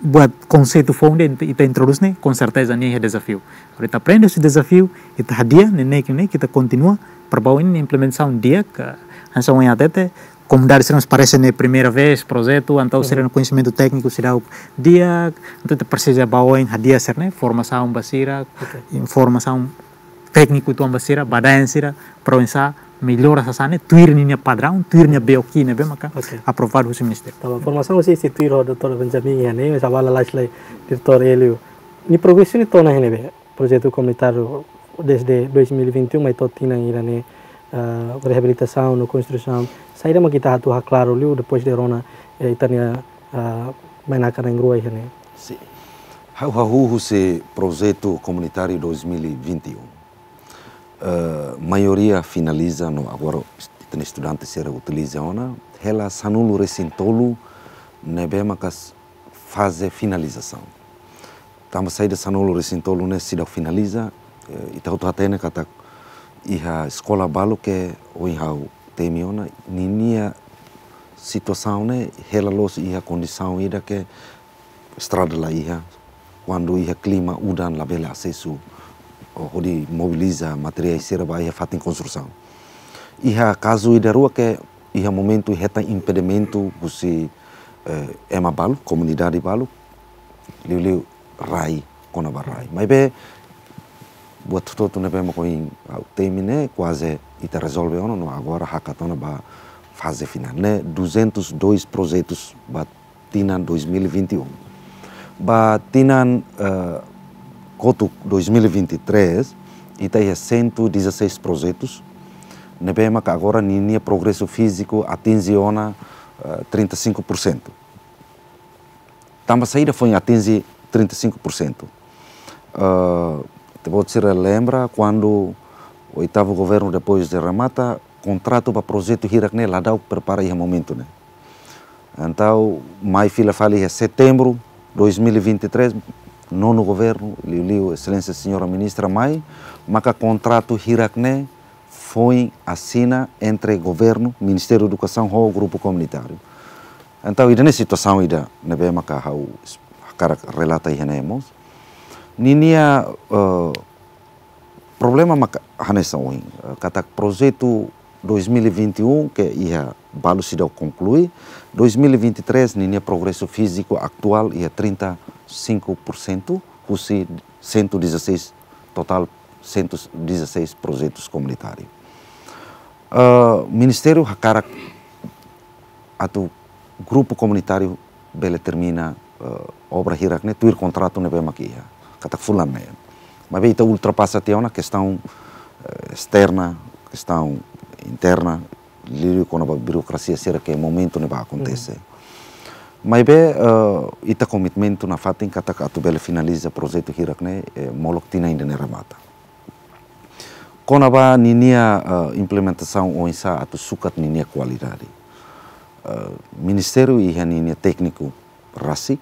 buat konseitu foun ida ita, ita introdús ne'e, konserteza nia iha dezafiu. Agora ita aprende husi dezafiu, ita hadi'a, ne'e, ne'e, ne'e, ita kontinua, para ba oin implementasaun di'ak, hanesan ohin ha'u hatete, komunidade sira mós parese ne'e primeira vez projetu, entaun sira-nia koñesimentu tékniku seidauk di'ak, entaun ita presiza ba oin hadi'a sira-ne'e, formasaun ba sira, informasaun tékniku uitoan ba sira, ba da'in sira, para oinsá mellora sasán ne'e, tuir ninia padraun, tuir nia B O Q ne'ebé maka aprovadu husi ministériu. Entaun, formasaun husi institui ho doutór Benjamin iha ne'e, mas agora lalais lai diretór Hélio. Nia progresu ne'e to'o ona iha ne'ebé? Projetu komunitáriu desde dois mil e vinte e um, mai to'o tinan ida-ne'e, ah, reabilitasaun no konstrusaun. Saida mak ita atu haklaru liu depois de rona, eh, ita-nia, ah, bainaka na'in-rua iha ne'e? Sin. Ha'u hahú husi projetu komunitáriu dois mil e vinte e um. Eh, maioria finaliza no agora est-, ita-nia estudante sira utiliza ona, hela sanulu-resin-tolu ne'ebé maka faze finalizasaun. Tanba saida sanulu-resin-tolu ne'e seidauk finaliza, eh, ita hotu hatene katak iha eskola balu ke ohin ha'u temi ona, ninia situasaun ne'e hela loos iha kondisaun ida ke estrada la iha, kuandu iha klima udan labele asesu, oh, hodi mobiliza materiál sira ba iha fatin konstrusaun. Iha kazu ida rua ke iha momentu hetan impedimentu husi, eh, ema balu, komunidade balu, liuliu rai, kona-ba rai. Maibé, buat hotu-hotu ne'ebé mak ohin ha'u temi ne'e, kuaze ita rezolve ona, no agora hakat ona ba faze finál. Ne'e duzentos e dois projetus ba tinan dois mil e vinte e um. Ba tinan, eh, kotuk dois mil e vinte e três, ita iha cento e dezasseis projetus, ne'ebé maka agora ninia progresu fíziku atinje ona, eh, trinta e cinco por cento. Tanba saida foin atinje trinta e cinco por cento? Eh, ita-boot sira lembra kuandu oitavu governu depois de remata, kontratu ba projetu hirak ne'e la da'u prepara iha momentu ne'e. Entaun, mai fila fali iha setembru dois mil e vinte e três, nonu governu, liuliu Exelénsia Señora Ministra mai, maka kontratu hirak ne'e foin asina entre governu, Ministériu Edukasaun ho grupu komunitáriu. Entaun, ida-ne'e situasaun ida ne'ebé maka ha'u hakarak relata iha ne'e mós. Ninia, eh, problema maka hanesan ohin, eh, katak projetu dois mil e vinte e um ke iha balu seidauk konklui, dois mil e vinte e três ninia progresu fíziku atuál iha trinta e cinco por cento, husi cento e dezasseis, totál cento e dezasseis projetus komunitáriu. Eh, Ministériu hakarak atu grupu komunitáriu bele termina, eh, obra hirak ne'e tuir kontratu ne'ebé mak iha, katak fulan ne'e. Maibé ita ultrapasa tiha ona kestaun, eh, esterna, kestaun interna, liuliu kona-ba birokrasia sira ke momentu ne'ebá akontese. Hmm. Maibé, eh, ita komitmentu nafatin katak atu bele finaliza projetu hirak ne'e, eh, molok tinan ida-ne'e remata. Kona-ba ninia, eh, implementasaun oinsá atu sukat ninia kualidade. Eh, Ministériu iha ninia tékniku rasik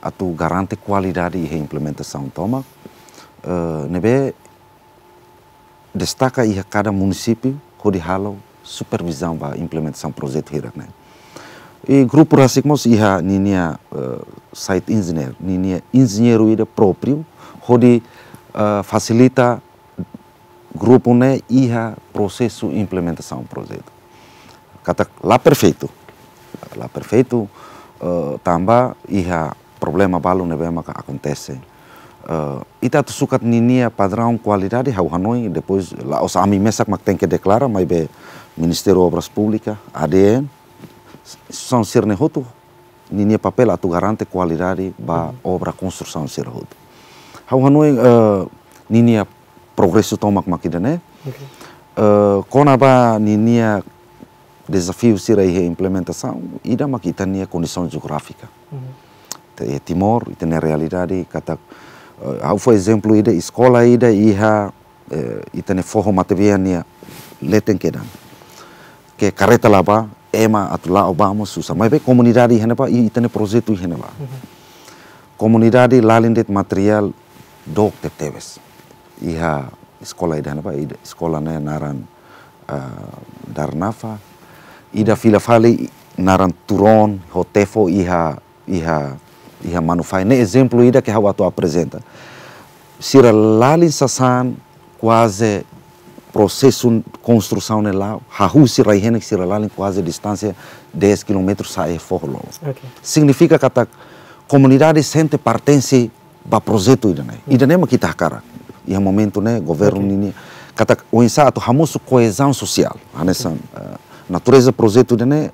atu garante kualidade iha implementasaun tomak, eh, ne'ebé destaka iha kada munisípiu hodi halo supervizaun ba implementasaun projetu hirak ne'e. I grupu rasik mós iha ninia, eh, site engineer, ninia enjeñeiru ida própriu, hodi, eh, fasilita grupu ne'e iha prosesu implementasaun projetu. Katak la perfeitu. La perfeitu, eh, tanba iha problema balu ne'ebé maka akontese. Eh, ita atu sukat ninia padraun kualidade ha'u hanoin, depois la'ós ami mesak mak tenke deklara, maibé Ministériu Obras Públikas, A D N, instituisaun sira-ne'e hotu, ninia papél atu garante kualidade ba, mhm, obra konstrusaun sira hotu. Ha'u hanoin, eh, ninia progresu tomak mak ida-ne'e. Oke. Eh, kona-ba ninia dezafiu sira iha implementasaun, ida mak ita-nia kondisaun jeográfika. Mhm. Ita iha Timor, ita-nia realidade, katak, eh, ha'u fó ezemplu ida, eskola ida iha, eh, ita-nia foho matebian nia leten kedan. Ke karreta la bá, ema atu la'o bá mós susar. Maibé komunidade iha ne'ebá, i ita-nia projetu iha ne'ebá. Mhm. Komunidade lalin de'it materiál dook tebetebes. Iha eskola ida ne'ebá, ida eskola ne'e naran, ah, Darnafa. Ida fila fali naran Turon, ho Tefo iha, iha, iha Manufahi. Ne'e ezemplu ida ke ha'u atu aprezenta. Sira lalin sasán kuaze prosesu konstrusaun ne'e la'o, hahú sira iha ne'e sira lalin kuaze distánsia dez kilómetru sa'e foho lolo. Oke. Signifika katak komunidade sente pertense ba projetu ida-ne'e. Hmm. Ida-ne'e mak ita hakarak. Iha momentu ne'e, governu, oke, ninia, katak oinsá atu hamosu koezaun sosiál. Hanesan, oke, eh, natureza projetu ida-ne'e,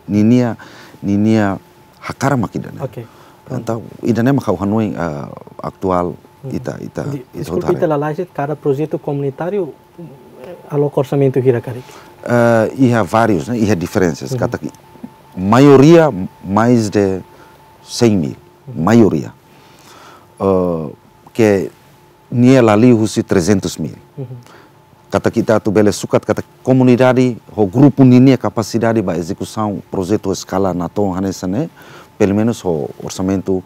ninia, ninia hakarak mak ida-ne'e. Oke. Entaun, ida-ne'e mak ha'u hanoin, eh, atuál, hmm, ita, ita, di-, ita deskulpa, hotu haree. Ita lalais de'it, kada projetu komunitáriu, eh, aloka orsamentu hira karik? Eh, iha várius, ne'e? Iha diferensas. Mhm. Katak maioria mais de cem mil. Mhm. Maioria. Eh, ke nia la liu husi trezentos mil. Mhm. Katak ita atu bele sukat katak komunidade ho grupu ninia kapasidade ba ezekusaun projetu eskala natoon hanesan ne'e, pelumenus ho orsamentu,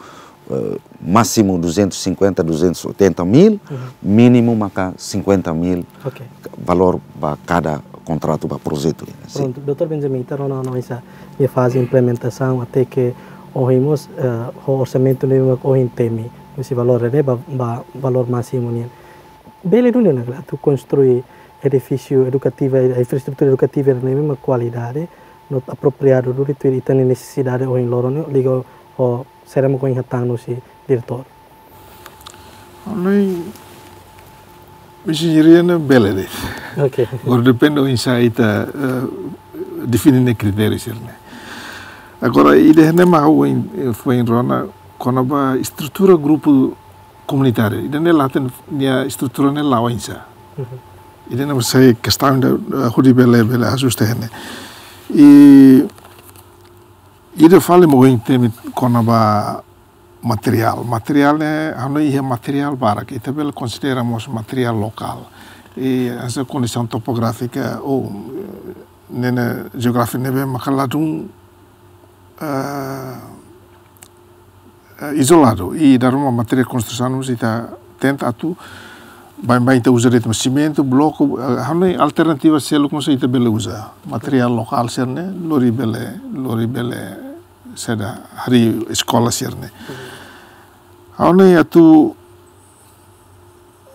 eh, másimu duzentos e cinquenta, duzentos e oitenta mil, mhm, mínimu maka cinquenta mil, oke, valór ba kada kontratu ba projetu, sin. Prontu, doutór Benjamin, ita rona ona oinsá nia faze implementasaun até ke ohin mós, eh, ho orsamentu ne'ebé mak ohin temi, husi valór ne'e ba, ba valór másimu nian. Bele duni ona ka lae atu konstrui edifísiu edukativu, infraestrutura edukativa ne'ebé mak kualidade, no apropriadu duni tuir ita-nia nesesidade ohin loron ne'e, liga ho saida mak ohin hatán husi diretór? Ha'u hanoin, enjeñaria ne'e bele de'it. Oke. Agora depende oinsá ita, eh, define nia kritériu sira-ne'e. Agora, ida-ne'e mak ha'u foin, eh, foin rona, kona-ba estrutura grupu komunitáriu. Ida-ne'e la hatene nia estrutura ne'e la'o oinsá. Mhm. Ida-ne'e mak sai kestaun ida, eh, hodi bele, bele ajusta iha ne'e. I ida fali mak ohin temi kona-ba materiál. Materiál ne'e, ha'u hanoin iha materiál barak. Ita bele konsidera mós materiál lokál. I hanesan kondisaun topográfika, ou, eh, ne'e, ne'e jeografia ne'ebé maka ladún, eh, eh, izoladu. I dala ruma materiál konstrusaun mós ita tenta atu baibain ita uza de'it mak simentu, bloku, eh, ha'u hanoin alternativa seluk mós ita bele uza. Materiál lokál sira-ne'e, lori bele, lori bele saida, harii eskola sira-ne'e. Ha'u hanoin atu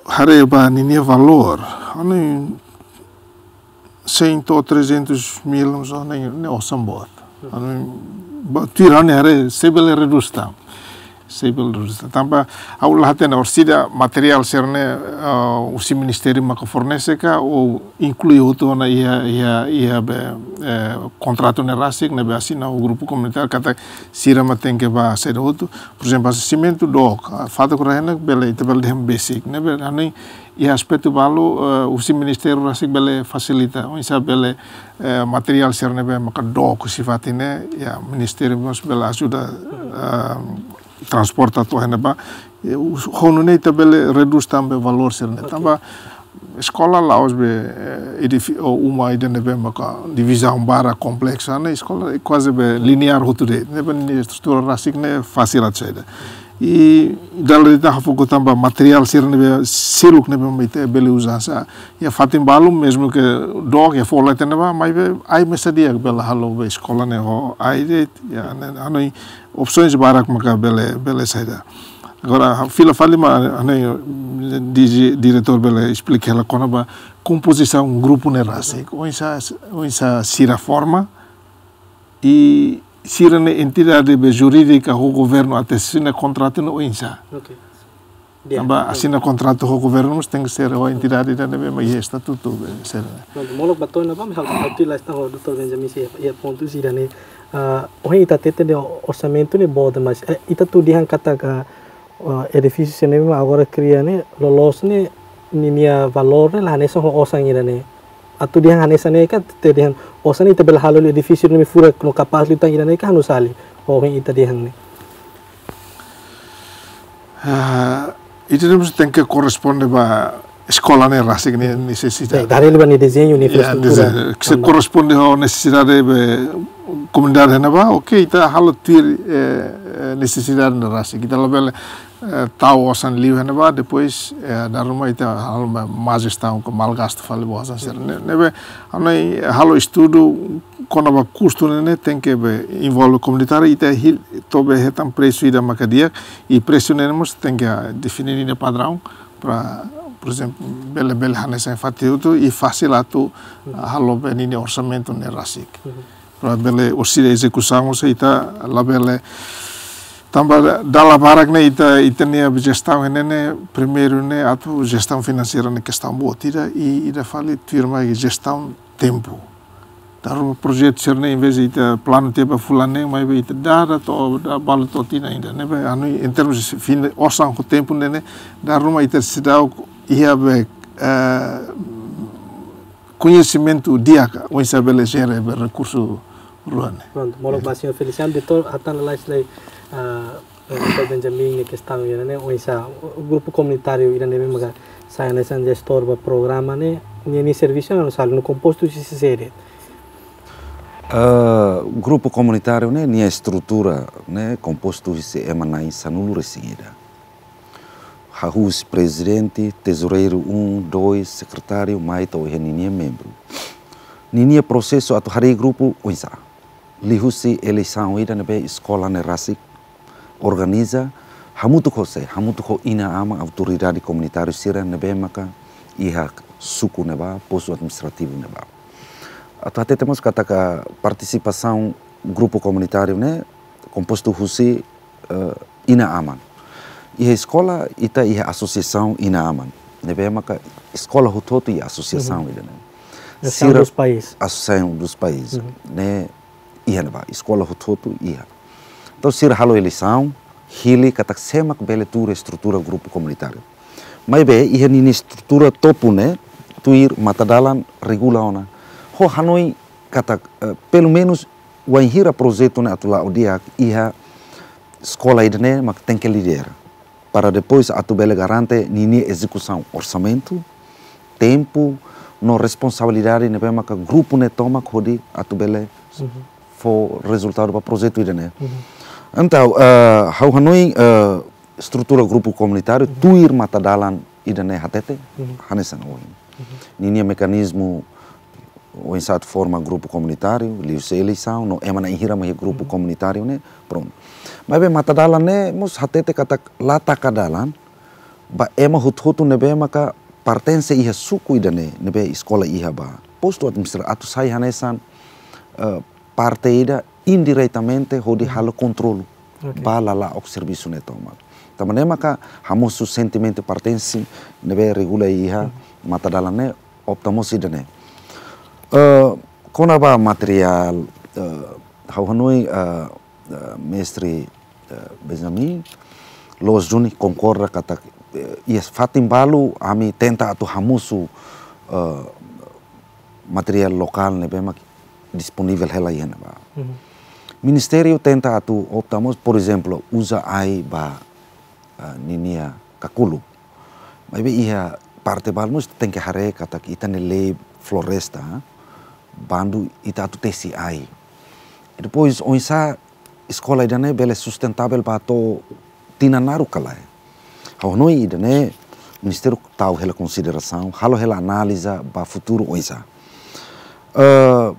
haree ba ninia valór, ha'u hanoin cem ou trezentos mil, mas ha'u hanoin ne'e osan boot. Ha'u hanoin, ba, tuir ha'u-nia haree, sei bele redús tan. Sei bele redús tan. Tanba ha'u la hatene orsida materiál sira-ne'e, ah, husi ministériu maka fornese ka, ou inklui hotu ona iha, iha, iha be, eh, kontratu ne'e rasik ne'ebé asina ho grupu komunitáriu katak sira mak tenke bá saida hotu. Por ezemplu, hanesan simentu dook, ah, fatuk rehena bele, ita bele dehan besik, ne'ebé, ha'u hanoin iha aspetu balu, eh, husi ministériu rasik bele fasilita, oinsá bele, eh, materiál sira ne'ebé maka dook husi fatin ne'e, ya, ministériu mós bele ajuda, eh, transporta to'o iha ne'ebá. Ya, us-, ho nune'e ita bele redús tan be valór sira-ne'e. Oke. Tanba eskola la'ós be, eh, edifí-, ou uma ida ne'ebé maka divizaun barak kompleksu, ne'e eskola kuaze be lineár hotu de'it, ne'ebé nia estrutura rasik ne'e fasil atu saida. I dala ida hafoku tan ba materiál sira ne'ebé seluk ne'ebé mak ita bele uza hanesan. Ya, fatin balu, mezmu ke dook, ya, fó leten ne'ebá, maibé ai mesak di'ak bele halo be eskola ne'e ho ai de'it, ya, ne'e, ha'u hanoin opsaun barak maka bele, bele saida. Agora, fila fali mak, ha'u hanoin, di-, diretór bele esplika hela kona-ba kompozisaun grupu ne'e rasik. Oinsá, oinsá sira forma, i sira-nia entidade be jurídika ho governu atu asina kontratu ne'e oinsá. Oke. Di'ak. Tanba asina kontratu ho governu mós tenke ser ho entidade ida ne'ebé mak iha estatutu be sira-ne'e. Prontu, molok ba to'o iha ne'ebá, ha'u, ha'u atu la'ós tan ho doutór Benjamin sira, iha pontu sira-ne'e. Ah, ohin ita hatete dehan orsamentu ne'e boot, mas, eh, ita atu dehan katak, ah, edifísiu sira-ne'e mak agora kria ne'e, loloos ne'e, ninia valór ne'e la hanesan ho osan ida-ne'e. Atu dehan hanesan ne'e ka, atu dehan osan ne'e ita bele halo hela edifísiu ne'ebé furak no kapás liután ida-ne'e ka, ha'u hanoin ita dehan ne'e. Ah, ita mós tenke korresponde ba eskola ne'e rasik nia nesesidade. Ya, dari liu ba nia dezeñu, nia infraestrutura. Ya, ne'e, se korresponde ho nesesidade be komunidade iha ne'ebá, oke, ita halo tuir, eh, eh, nesesidade ne'e rasik. Ita labele, eh, tau osan liu iha ne'ebá, depois, eh, dala ruma ita halo ma-, má jestaun ka malgastu fali ba osan sira-ne'e. Ne'ebé, ha'u hanoin halo estudu kona-ba kustu ne'e, ne'e tenke be envolve komunitáriu, ita hil-, to'o be hetan presu ida maka di'ak, i presu ne'e mós tenke, ah, define ninia padraun, para, por ezemplu, bele, bele hanesan fatin hotu, i fasil atu, ah, halo be ninia orsamentu ne'e rasik. Para bele orsida ezekusaun, se ita labele, tanba dala barak ne'e ita, ita-nia jestaun ne'e, ne'e, primeiru ne'e atu jestaun finanseira ne'e kestaun boot ida, i ida fali tuirmai jestaun tempu. Dala ruma projetu sira-ne'e, envezde ita planu tiha ba fulan neen, maibé ita dada to'o, dada balu to'o tinan ida. Ne'ebé, ha'u hanoin, em termos de fin, osan ho tempu ne'e, ne'e, dala ruma ita seidauk iha be, eh, koñesimentu di'ak, oinsá bele jere be rekursu rua ne'e. Prontu, molok ba señór Feliciano, doutór, hatán lalais lai, ah, doutór Benjamin nia kestaun ida-ne'e, oinsá grupu komunitáriu ida-ne'e maka sai hanesan jestór ba programa ne'e, nia, nia servisu ne'e oinsá, no kompostu husi sé de'it? Eh, grupu komunitáriu ne'e, nia estrutura ne'e kompostu husi ema na'in sanulu-resin-ida. Hahú husi prezidente, tezoureiru um, dois, sekretáriu, mai to'o iha ninia membru. Ninia prosesu atu harii grupu oinsá? Liuhusi eleisaun ida ne'ebé eskola ne'e rasik organiza, hamutuk ho sé, hamutuk ho inan-aman, autoridade komunitáriu sira ne'ebé maka iha suku ne'ebá, postu administrativu ne'ebá. Atu hatete mós katak partisipasaun grupu komunitáriu ne'e kompostu husi, eh, inan-aman. Iha eskola, ita iha asosiasaun inan-aman. Ne'ebé maka eskola hotu-hotu iha asosiasaun ida-ne'e. Associação dos pais. Associação dos pais. Ne'e iha ne'ebá, eskola hotu-hotu iha. Entaun, sira halo eleisaun, hili katak sé mak bele tuur estrutura grupu komunitáriu. Maibé, iha ninia estrutura topu ne'e, tuir matadalan regula ona. Ha'u hanoin katak, eh, pelumenus, wainhira projetu ne'e atu la'o di'ak, iha eskola ida-ne'e mak tenke lidera. Para depois atu bele garante ninia ezekusaun orsamentu, tempu, no responsabilidade ne'ebé maka grupu ne'e tomak hodi atu bele fó rezultadu ba projetu ida-ne'e. Entaun, eh, ha'u hanoin, eh, estrutura grupu komunitáriu, tuir matadalan ida-ne'e hatete, hanesan ohin. Ninia mekanizmu oinsá atu forma grupu komunitáriu, liuhusi eleisaun, no ema na'in hira mak iha grupu komunitáriu ne'e, prontu. Maibé matadalan ne'e mós hatete katak la taka dalan ba ema hotu-hotu ne'ebé maka pertense iha suku ida-ne'e, ne'ebé eskola iha ba. Postu administrativu atu sai hanesan, eh, parte ida indiretamente hodi halo kontrolu. Oke. Ba lala'ok servisu ne'e tomak. Tanba ne'e maka hamosu sentimentu pertense ne'ebé regula iha matadalan ne'e opta mós ida-ne'e. Eh, kona-ba materiál, eh, ha'u hanoin, eh, eh, mestre, eh, Benjamin, loos duni konkorda katak, eh, iha fatin balu ami tenta atu hamosu, eh, materiál lokál ne'ebé mak disponivel hela iha ne'ebá. Ministériu tenta atu opta mós, por ezemplu, uza ai ba, ah, ninia kakuluk. Maibé iha parte balu mós tenke haree katak ita-nia lei floresta, bandu ita atu tesi ai. E depois, oinsá eskola ida-ne'e bele sustentável ba to'o tinan naruk ka lae. Ha'u hanoin ida-ne'e ministériu tau hela konsiderasaun, halo hela analiza ba futuru oinsá. Eh,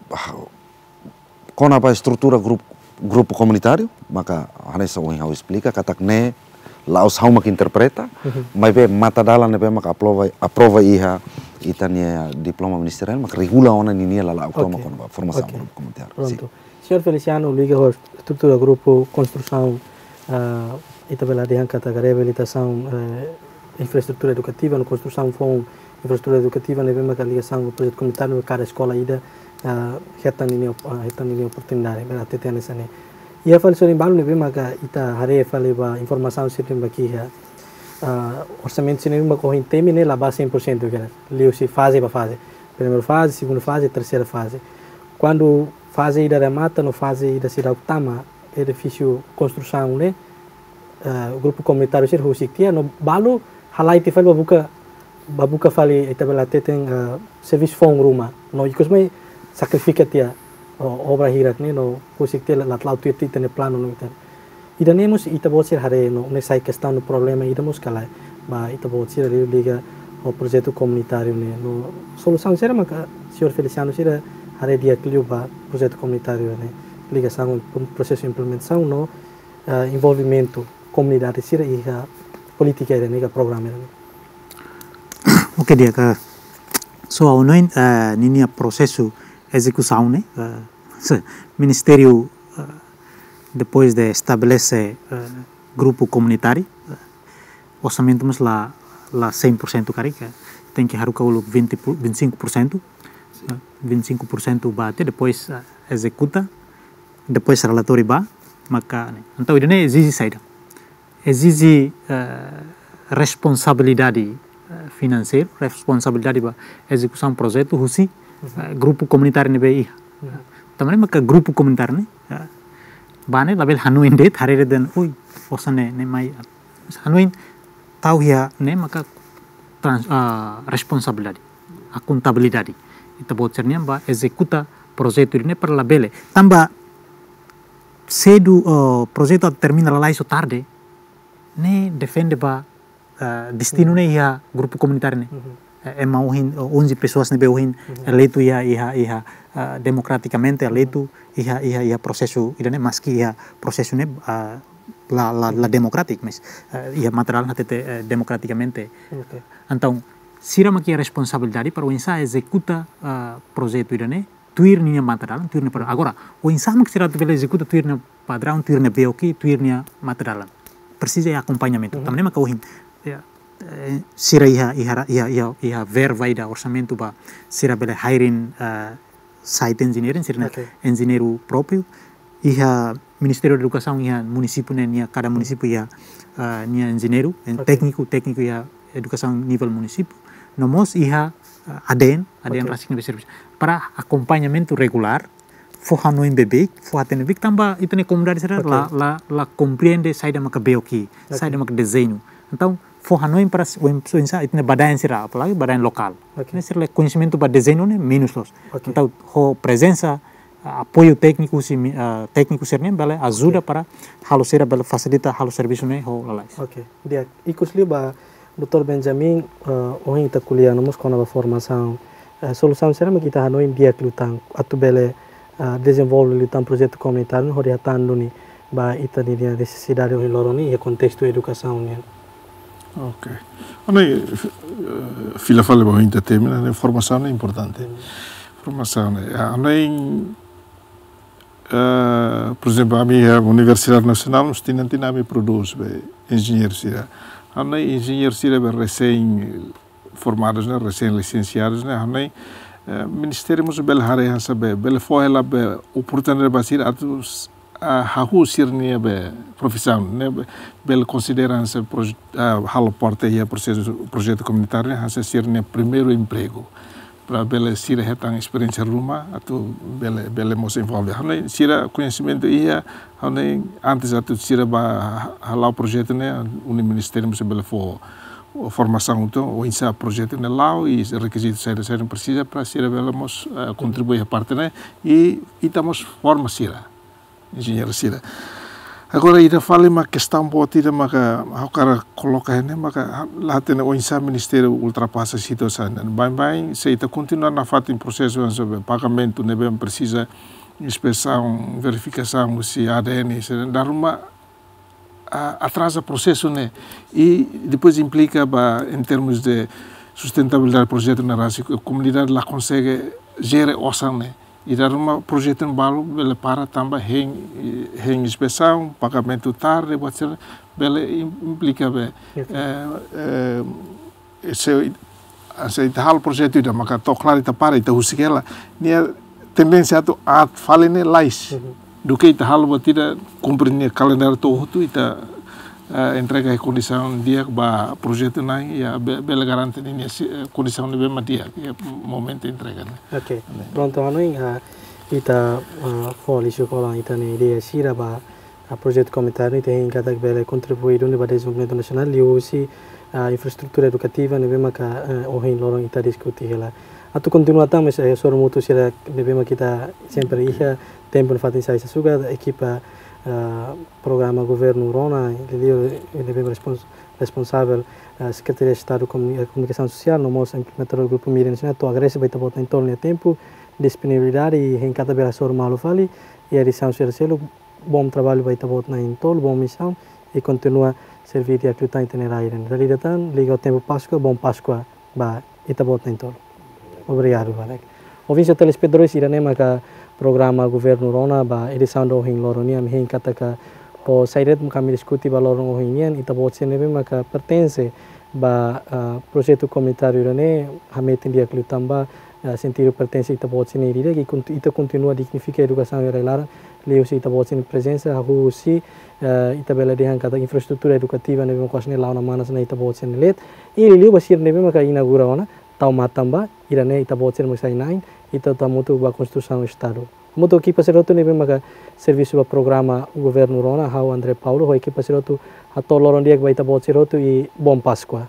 kona-ba estrutura grupu, grupu komunitáriu, maka hanesan ohin ha'u esplika, katak ne'e la'ós ha'u mak interpreta, maibé matadalan ne'ebé mak aprova, aprova iha ita-nia diploma ministeriál, mak regula ona ninia lala'ok tomak kona-ba formasaun grupu komunitáriu. Sin. Prontu. Señór Feliciano, liga ho estrutura grupu, konstrusaun, ah, ita bele dehan katak reabilitasaun, eh, infraestrutura edukativa, no konstrusaun foun infraestrutura edukativa ne'ebé maka ligasaun ho projetu komunitáriu, kada eskola ida, ah, hetan ninia op-, ah, hetan ninia oportunidade, bele hatete hanesan ne'e. Iha fali sorin balu ne'ebé maka ita haree fali ba informasaun sira ne'ebé iha, ah, orsamentu sira ne'ebé maka ohin temi ne'e la ba cem por cento, liuhusi faze ba faze. Primeira faze, segunda faze, terseira faze. Kuandu faze ida remata, no faze ida seidauk tama, edifísiu konstrusaun ne'e, eh, grupu komunitáriu sira husik tiha, no balu halai tiha fali ba buka, ba buka fali ita bele hateten, eh, servisu foun ruma. No ikus mai sakrifika tiha, o, obra hirak ne'e, no husik tiha la, la tuir ita-nia planu no ita. Ida-ne'e mós ita-boot sira haree no, ne'e sai kestaun no problema ida mós ka lae. Ba ita-boot sira liga ho projetu komunitáriu ne'e. No solusaun sira maka señór Feliciano sira haree di'ak liu ba projetu komunitáriu ne'e. Ligasaun ho prosesu implementasaun no, eh, envolvimentu komunidade sira iha polítika ida-ne'e ka programa ida-ne'e. Oke, di'ak, so ha'u hanoin, eh, ninia prosesu ezekusaun ne'e, eh, se, ministériu, eh, depois de estabelese, eh, grupu komunitáriu, eh, orsamentu mós la, la cem por cento karik, eh, tenke haruka uluk vinte por, vinte e cinco por cento, eh, vinte e cinco por cento ba tiha, depois, eh, ezekuta, depois relatóriu ba, maka, ne'e. Entaun, ida-ne'e ezije saida? Ezije, eh, responsabilidade, eh, finanseira, responsabilidade ba ezekusaun projetu husi, eh, grupu komunitáriu ne'ebé iha. Tanba ne'e maka grupu komunitáriu ne'e, eh, ba ne'e labele hanoin de'it, haree de'it dehan, ui, osan ne'e, ne'e mai, hanoin tau iha ne'e maka trans-, ah, responsabilidade, akontabilidade. Ita-boot sira-nian ba ezekuta projetu ne'e para labele. Tanba sedu, eh, projetu atu termina lalais ou tarde, ne'e depende ba, eh, destinu ne'e iha grupu komunitáriu ne'e. Eh, ema ohin, eh, onze pessoas ne'ebé ohin eleitu iha, iha, iha, eh, demokratikamente eleitu iha, iha, iha prosesu ida-ne'e, maski iha prosesu ne'e, eh, la, la, la democratic, mas, eh, iha materiál hatete, eh, demokratikamente. Oke. Entaun, sira mak iha responsabilidade para oinsá ezekuta, eh, projetu ida-ne'e, tuir ninia matadalan, tuir ninia padrão. Agora, oinsá mak sira atu bele ezekuta tuir ninia padrão, tuir ninia B O Q, tuir ninia matadalan. Presiza iha akompañamentu. Tanba ne'e maka ohin, ya, eh, sira iha, iha, iha, iha, iha verba ida orsamentu ba sira bele hiring, eh, site engineering, sira-nia engenheiru própriu. Iha Ministériu Edukasaun iha munisípiu ne'e, nia kada munisípiu iha, eh, nia engenheiru, en-, tékniku, tékniku iha edukasaun nivel munisípiu. No mós iha, eh, A D N, A D N rasik ne'ebé servisu. Para akompañamentu regulár, fó hanoin beibeik, fó hatene beibeik, tanba ita-nia komunidade sira la, la, la komprende saida maka B O Q, saida maka dezeñu. Entaun, fó hanoin para s-, oin-, oinsá, ita-nia badaen sira, apalagi badaen lokál. Ne'e sira-nia koñesimentu ba dezeñu ne'e menus loos. Entaun, ho prezensa, ah, apoiu tékniku husi mi-, ah, tékniku sira-ne'e bele ajuda para halo sira bele fasilita halo servisu ne'e ho lalais. Oke. Di'ak, ikus liu ba doutór Benjamin, ah, ohin ita ko'alia no mós kona-ba formasaun Eh, solusaun saida mak ita hanoin di'ak liután atu bele, ah, dezenvolve liután projetu komunitáriu hodi hatán duni ba ita-nia nesesidade ohin loron ne'e iha kontestu edukasaun nian. Ok. Ha'u hanoin, eh, fila fali ba ohin ita termina, ne'e formasaun ne'e importante. Formasaun ne'e, ah, ha'u hanoin, eh, por ezemplu, ami iha Universidade Nasionál, mós tinan-tinan ami prodús be enjeñeiru sira. Ha'u hanoin enjeñeiru sira be resin formadu ne'e, resin lisensiadu ne'e, ha'u hanoin, eh, ministériu mós bele haree hanesan be, bele fó hela be oportunidade ba sira atu s-, ah, hahú sira-nia be profisaun ne'e be, bele konsidera hanesan proj-, ah, halo parte iha prosesu, projetu komunitáriu ne'e hanesan sira-nia primeiru empregu. Para bele sira hetan esperiénsia ruma atu bele, bele mós envolve. Ha'u hanoin sira koñesimentu iha, ha'u hanoin antes atu sira bá ha-, hala'o projetu ne'e, ha'u hanoin ministériu mós bele fó formasaun atu oinsá projetu ne'e la'o i rekizitu saida-saida presiza para sira bele mós, eh, kontribui iha parte ne'e i ita mós forma sira, enjeñeiru sira. Agora, ida fali mak kestaun boot ida maka ha'u hakarak koloka iha ne'e maka la hatene oinsá ministériu ultrapasa situasaun ne'e. Baibain, se ita kontinua nafatin prosesu hanesan be pagamentu ne'ebé presiza inspesaun, verifikasaun husi A D N, se dala ruma, ah, atraza prosesu ne'e. I depois implika ba, em termos de sustentabilidade projetu ne'e rasik, komunidade la konsege jere osan ne'e. I dala ruma projetu ne'e balu bele para tanba hein, hein inspesaun, pagamentu tarde, buat sira bele im-, implika be, Oke. eh, eh, se, se ita halo projetu ida maka to'o klaru ita para, ita husik hela, nia tendénsia atu aat fali ne'e lais. Mhm. Duké ita halo buat ida kumpre nia kalendáriu to'o hotu, ita, eh, entrega iha kondisaun di'ak ba projetu ne'e, ya be-, bele garante ninia si-, eh, kondisaun ne'ebé mak di'ak iha momentu entrega ne'e. Ok. Prontu, ha'u hanoin, ah, ita, ah, fó liuhusi kolan ita-nia ideia sira ba, ah, projetu komunitáriu ne'e, ita hein katak bele kontribui duni ba dezenvolvimentu nasionál liuhusi, ah, infraestrutura edukativa ne'ebé maka, eh, ohin loron ita diskute hela. Atu kontinua tan, mas, eh, hasoru mútuo sira ne'ebé mak ita sempre iha, tempu nafatin sai sasukat, ekipa, ah, programa Governu Rona, liuliu ne'ebé respons-, responsavel, ah, Sekretaria Estadu Komuni-, eh, Komunikasaun Sosiál, no mós implementadór Grupu Mídia Nasionál, atu agradese ba ita-boot na'in-tolu nia tempu, disponibilidade i hein katak bele hasoru malu fali iha edisaun sira seluk. Bom trabalho ba ita-boot na'in-tolu, bom missão i kontinua serví di'ak liután ita-nia rai. Dala ida tan, liga ho tempu Páskua, bom Páskua ba ita-boot na'in-tolu. Obrigadu barak. Ouvinte telespetadores, ida-ne'e maka programa Governu Rona ba edisaun ohin loron nian. Ami hein katak ho saida de'it mak ami diskute ba loron ohin nian, ita-boot sira ne'ebé maka pertense ba, ah, projetu komunitáriu ida-ne'e, hametin di'ak liután ba, ah, sentidu pertense ita-boot sira-nia ida-idak, i konti-, ita kontinua dignifika edukasaun iha rai-laran liuhusi ita-boot sira-nia prezensa, hahú husi, eh, ita bele dehan katak infraestrutura edukativa ne'ebé mak kuaze ne'e la'o ona manas ona ita-boot sira-nia leet. I liuliu ba sira ne'ebé maka inaugura ona, tau matan ba, ida-ne'e ita-boot sira mak sai na'in, ita atu hamutuk ba konstrusaun Estadu. Hamutuk ho ekipa sira hotu ne'ebé maka servisu ba programa Governu Rona, ha'u André Paulo, ho ekipa sira hotu hato'o loron di'ak ba ita-boot sira hotu i bom Páskua.